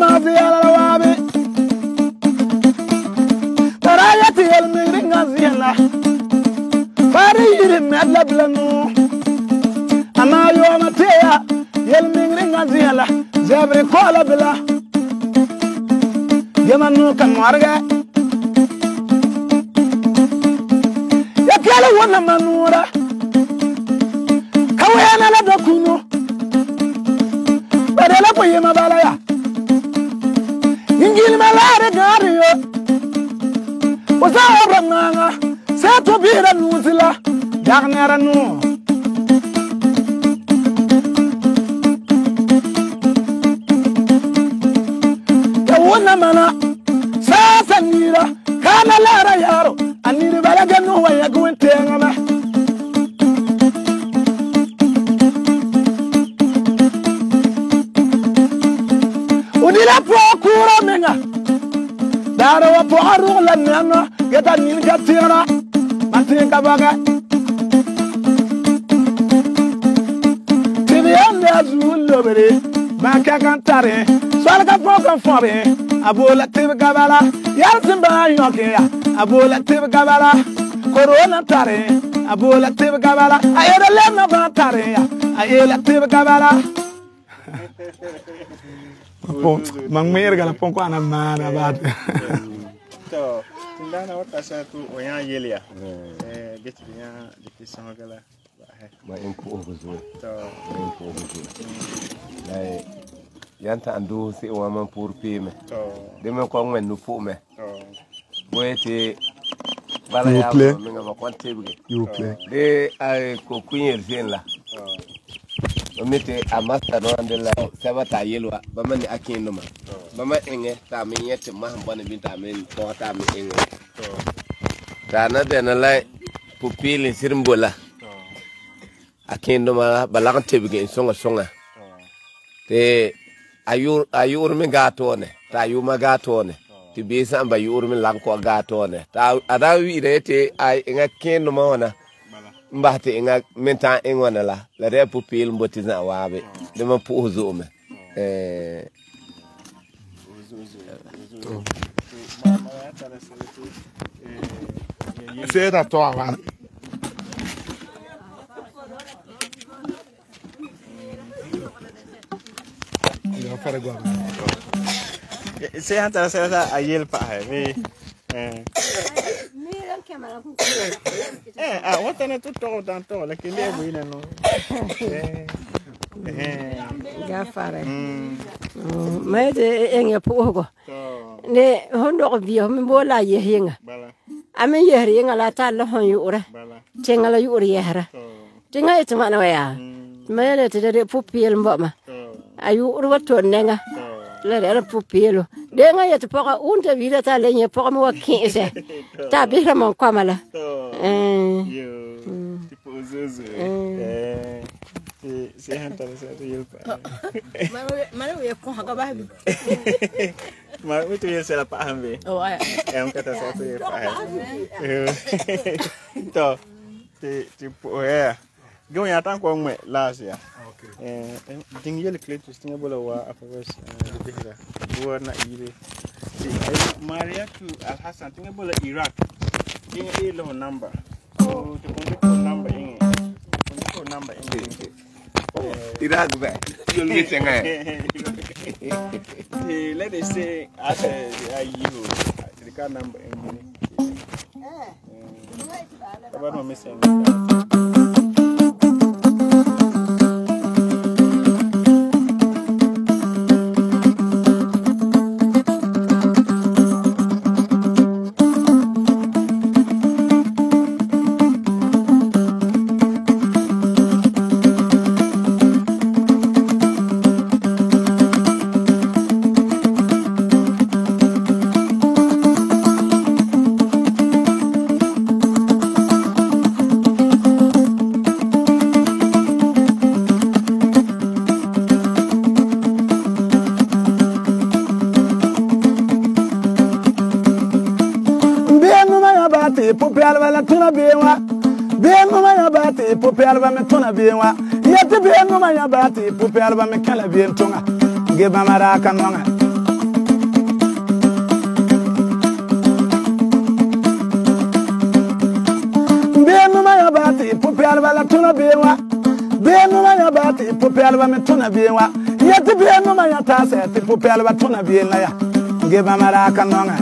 Speaker 1: mazi yala wabi Baraya ti yel migri ngazi la Bari yiri medla blanu Ama yo matea yel migri ngazi la Zebri kola bila Yamanu kan warga Ya kala wana manura Kawena la dokuno Badala ko yema balaya Ingil malare gariyo Wasa obranganga Seto bira nuzila Dagnera nu Wana mana Sasa nira Kana lara yaro Aniri balaga nuwa ya guwentenga ma Udila po kura menga Dara wa po arugh la nana Geta nil gatira Matinka baga Tibiyande azul lobere Baka kantare Swalga fokan fobe Abola tibi gabala Yarsimba yoke Abola tibi gabala Corona tare Abola tibi gabala Ayera lena ba tare Ayela tibi gabala Mangmer gala ponko ana mana bat
Speaker 2: To tindana wata sa tu oyan yelia Geti nya dikki sangala
Speaker 3: ma in ko ozo
Speaker 2: to
Speaker 3: in ko ozo dai yanta andu si o man pour pime
Speaker 2: to
Speaker 3: de me ko men nu pu me
Speaker 2: to
Speaker 3: boete bala ya me ngaba kwante bi
Speaker 1: You play
Speaker 3: de ay ko kunyer sen la o mete a master no andela sabata yelwa ba man akin no ma ba ma enge ta mi yete ma bane bin ta men to ta mi enge ta na de na lai pupili sirmbola akin no ma balang tebige songa te ayur mi gatone ta yuma gatone ti bisa ba yur mi lanko gatone ta ada wi rete ay nga ken no ma wana mbahte nga menta engwana la re pupil mbotiza wabe de ma pu uzume
Speaker 1: C'est à toi avant Ya fara gwa
Speaker 2: se hanta sa ayel pa me wata na tutto tanto la che le buina no
Speaker 5: Gafare mai de enge pogo ne hondo biyo mi bola ye hinga ame ye hinga la ta la hon yura tenga la yura ye hara tenga ite mana waya mai le te de pupil mboma ayu urwato nenga la de pupilo de nga ye te poga unta vida ta le nye poga mo wakinse ta bira mon kwamala
Speaker 2: yo tipo zuzu se hanta sa yelpa
Speaker 4: Mana we ko haga ba bi.
Speaker 2: Ma itu ya sela paham be.
Speaker 4: Oh ay.
Speaker 2: Yang kata saya tu ya paham. To tipo Gão ya tan ko ngwe las ya. Ding yele kletus tinga bola wa afawes dihira. Buar na ire. Maria to Al Hassan tinga bola Iraq. Tinga ilo number. Oh, the number in. Number in.
Speaker 3: Iraq ba you'll get nga
Speaker 2: let us say at you the car number in about no missing
Speaker 1: Popel va la tuna bewa ben no ma bati popel va me tuna bewa yete ben no ma bati popel va me kala ben tunga ge ba mara kanonga pelba la tuna bewa benu ma ya ba ti po pelba me tuna bewa ya ti benu ma ya ta se ti po pelba tuna be la ya ge ba mara ka nonga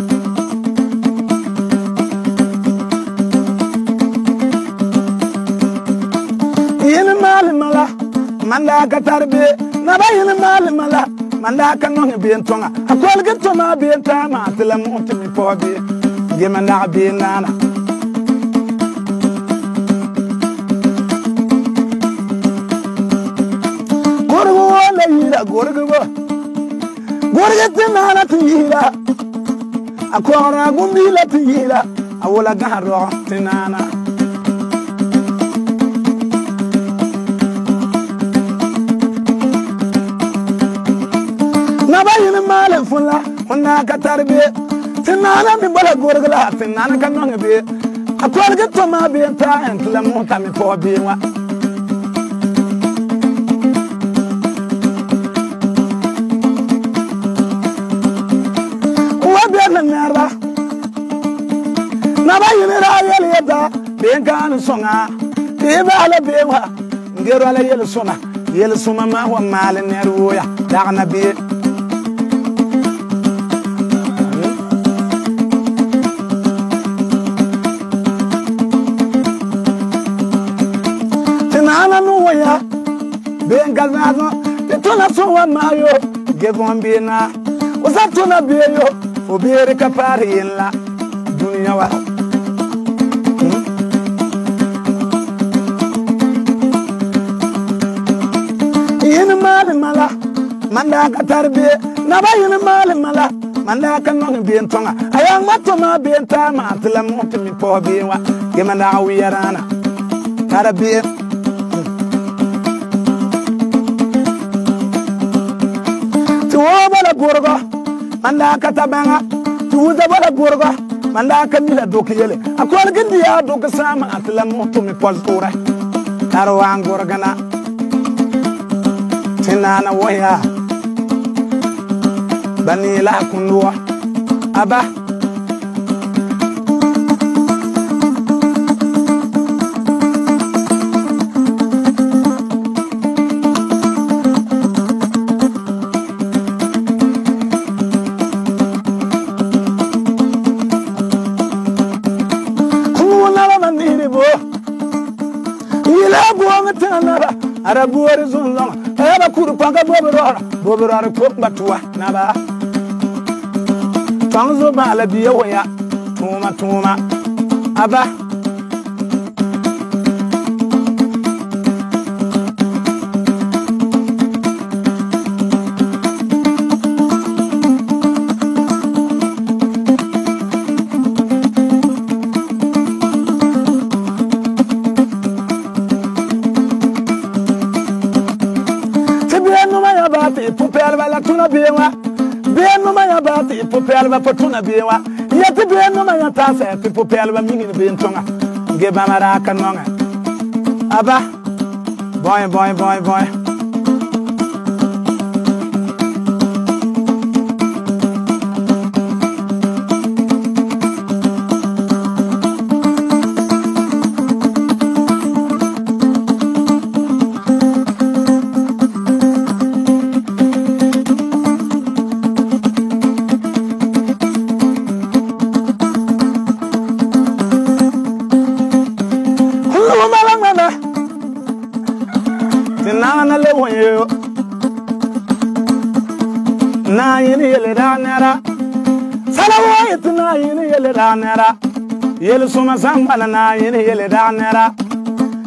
Speaker 1: yin mal mala manda ka tarbe na ba yin mal mala manda ka nonga be tonga akol ge to ma be ta ma ti la mo ti mi po be ge manda be nana gorga tinana tiyira akora gumbila tiyira awola gaharo tinana nabayin male fulla hunna ka tarbe tinana mi bala gorga la tinana kan no be akorga to ma be ta entla mo ta mi po be wa nara naba yinira yel yeda ben kan songa be bala bewa ngero ala yel sona yel suma ma wa mal nerwo ya dagna be tinana no ya ben gazazo tona so wa mayo gevon be na usatuna be yo obere kapari la dunia wa yin mal mala manda ka tarbe na ba yin mal mala manda ka no be ntonga ayang mato ma be ta ma tla mo mi po be wa ge manda wiyarana tarbe to bala gorgo manda ka tabanga tuza bala gorga manda ka mila dokiyele akol gindi ya dok sama atla moto mi poltura tarwa gorgana tinana waya banila kunwa aba ara buore zunlong aba kuru panga boboro ko batwa naba tangzo bala biya waya tuma aba popelba la tuna bewa benu ma ya ba ti popelba potuna bewa yati benu ma ya ta sa ti popelba mingi be ntonga ge ba mara kanonga aba boy na yini yele danera salawo itna yini yele danera yele suma sambala na yini yele danera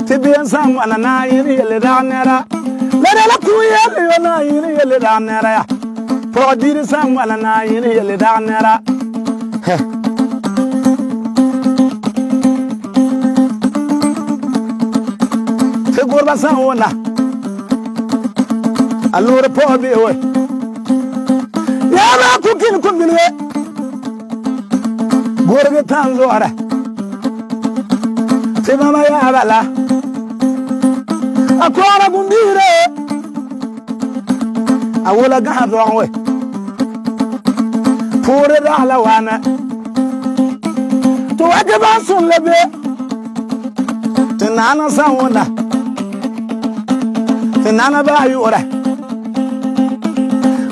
Speaker 1: tibiyan sambala na yini yele danera lere la kuyele yo na yini yele danera ya podiri sambala na yini yele danera te gorba sawona allora pobe we yaba kukin kumbile gorge tanzo ara te mama ya bala akora gumbire awola gahdo we pore dala wana to wajaba sun lebe nana sawona te nana ba yura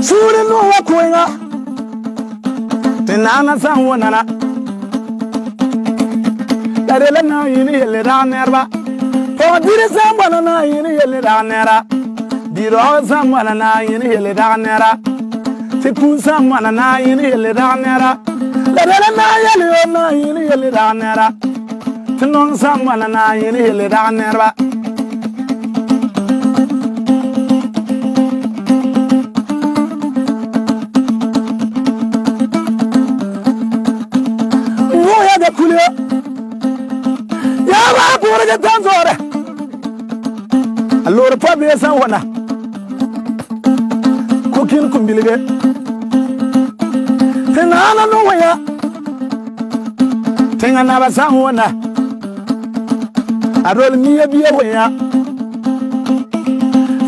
Speaker 1: suri no wa koinga te nana sawona na darele na yini yele da nerba po dire sambana na yini yele da nera diro sambana na yini yele da nera te kun sambana na yini yele da nera darele na yele na yini yele da nera te non sambana na yini yele da nerba moya de kulio ya ba pura de tanzore allora pa be san wana kokin kumbilige tenana no waya tenga na ba san wana arol miye biye waya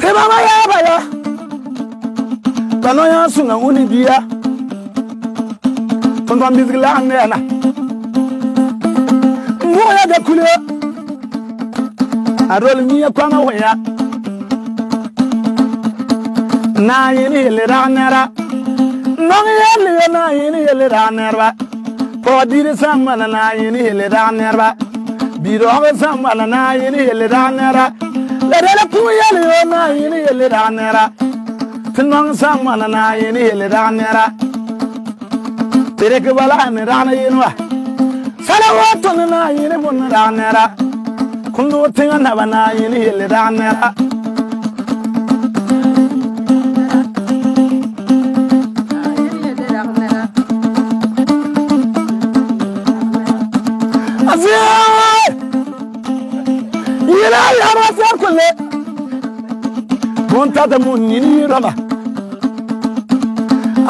Speaker 1: te mama ya ba ya kano ya sunga uni biya tonton bizgila anena moya de kulio arol miye kwanga waya na yini yele ranera nong yele na yini yele ranera ko dire samana na yini yele ranera biro ga samana na yini yele ranera la dele ku yele na yini yele ranera tinong samana na yini yele ranera tere ke bala ne rana yinwa salawatu na yini mun ranera kundu tinga na bana yini yele ranera yila yara sa kulle monta da mun ni rama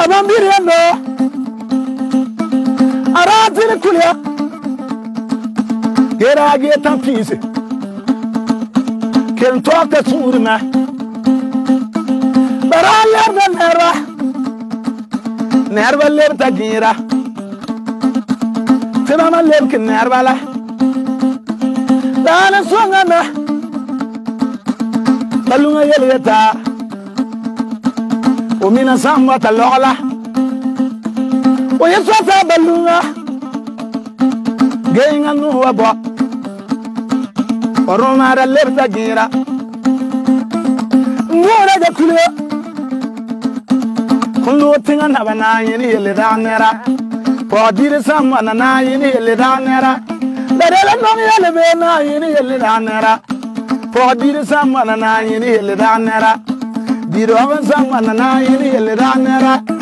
Speaker 1: aban birendo aratin kulle gera ge tan fise ken to ka surna baralla da nerva ler ta gira Fema ler ken nerva la dana swangana balunga yeleta o mina samba talola o yesota balunga geinga no wabo oroma da lerta gira ngora da kulo kullu tinga na bana yini yele da nera po dire samba na yini yele da nera darele no yele be na yini yele da nera po dire samba na yini yele da nera diro samba na yini yele da nera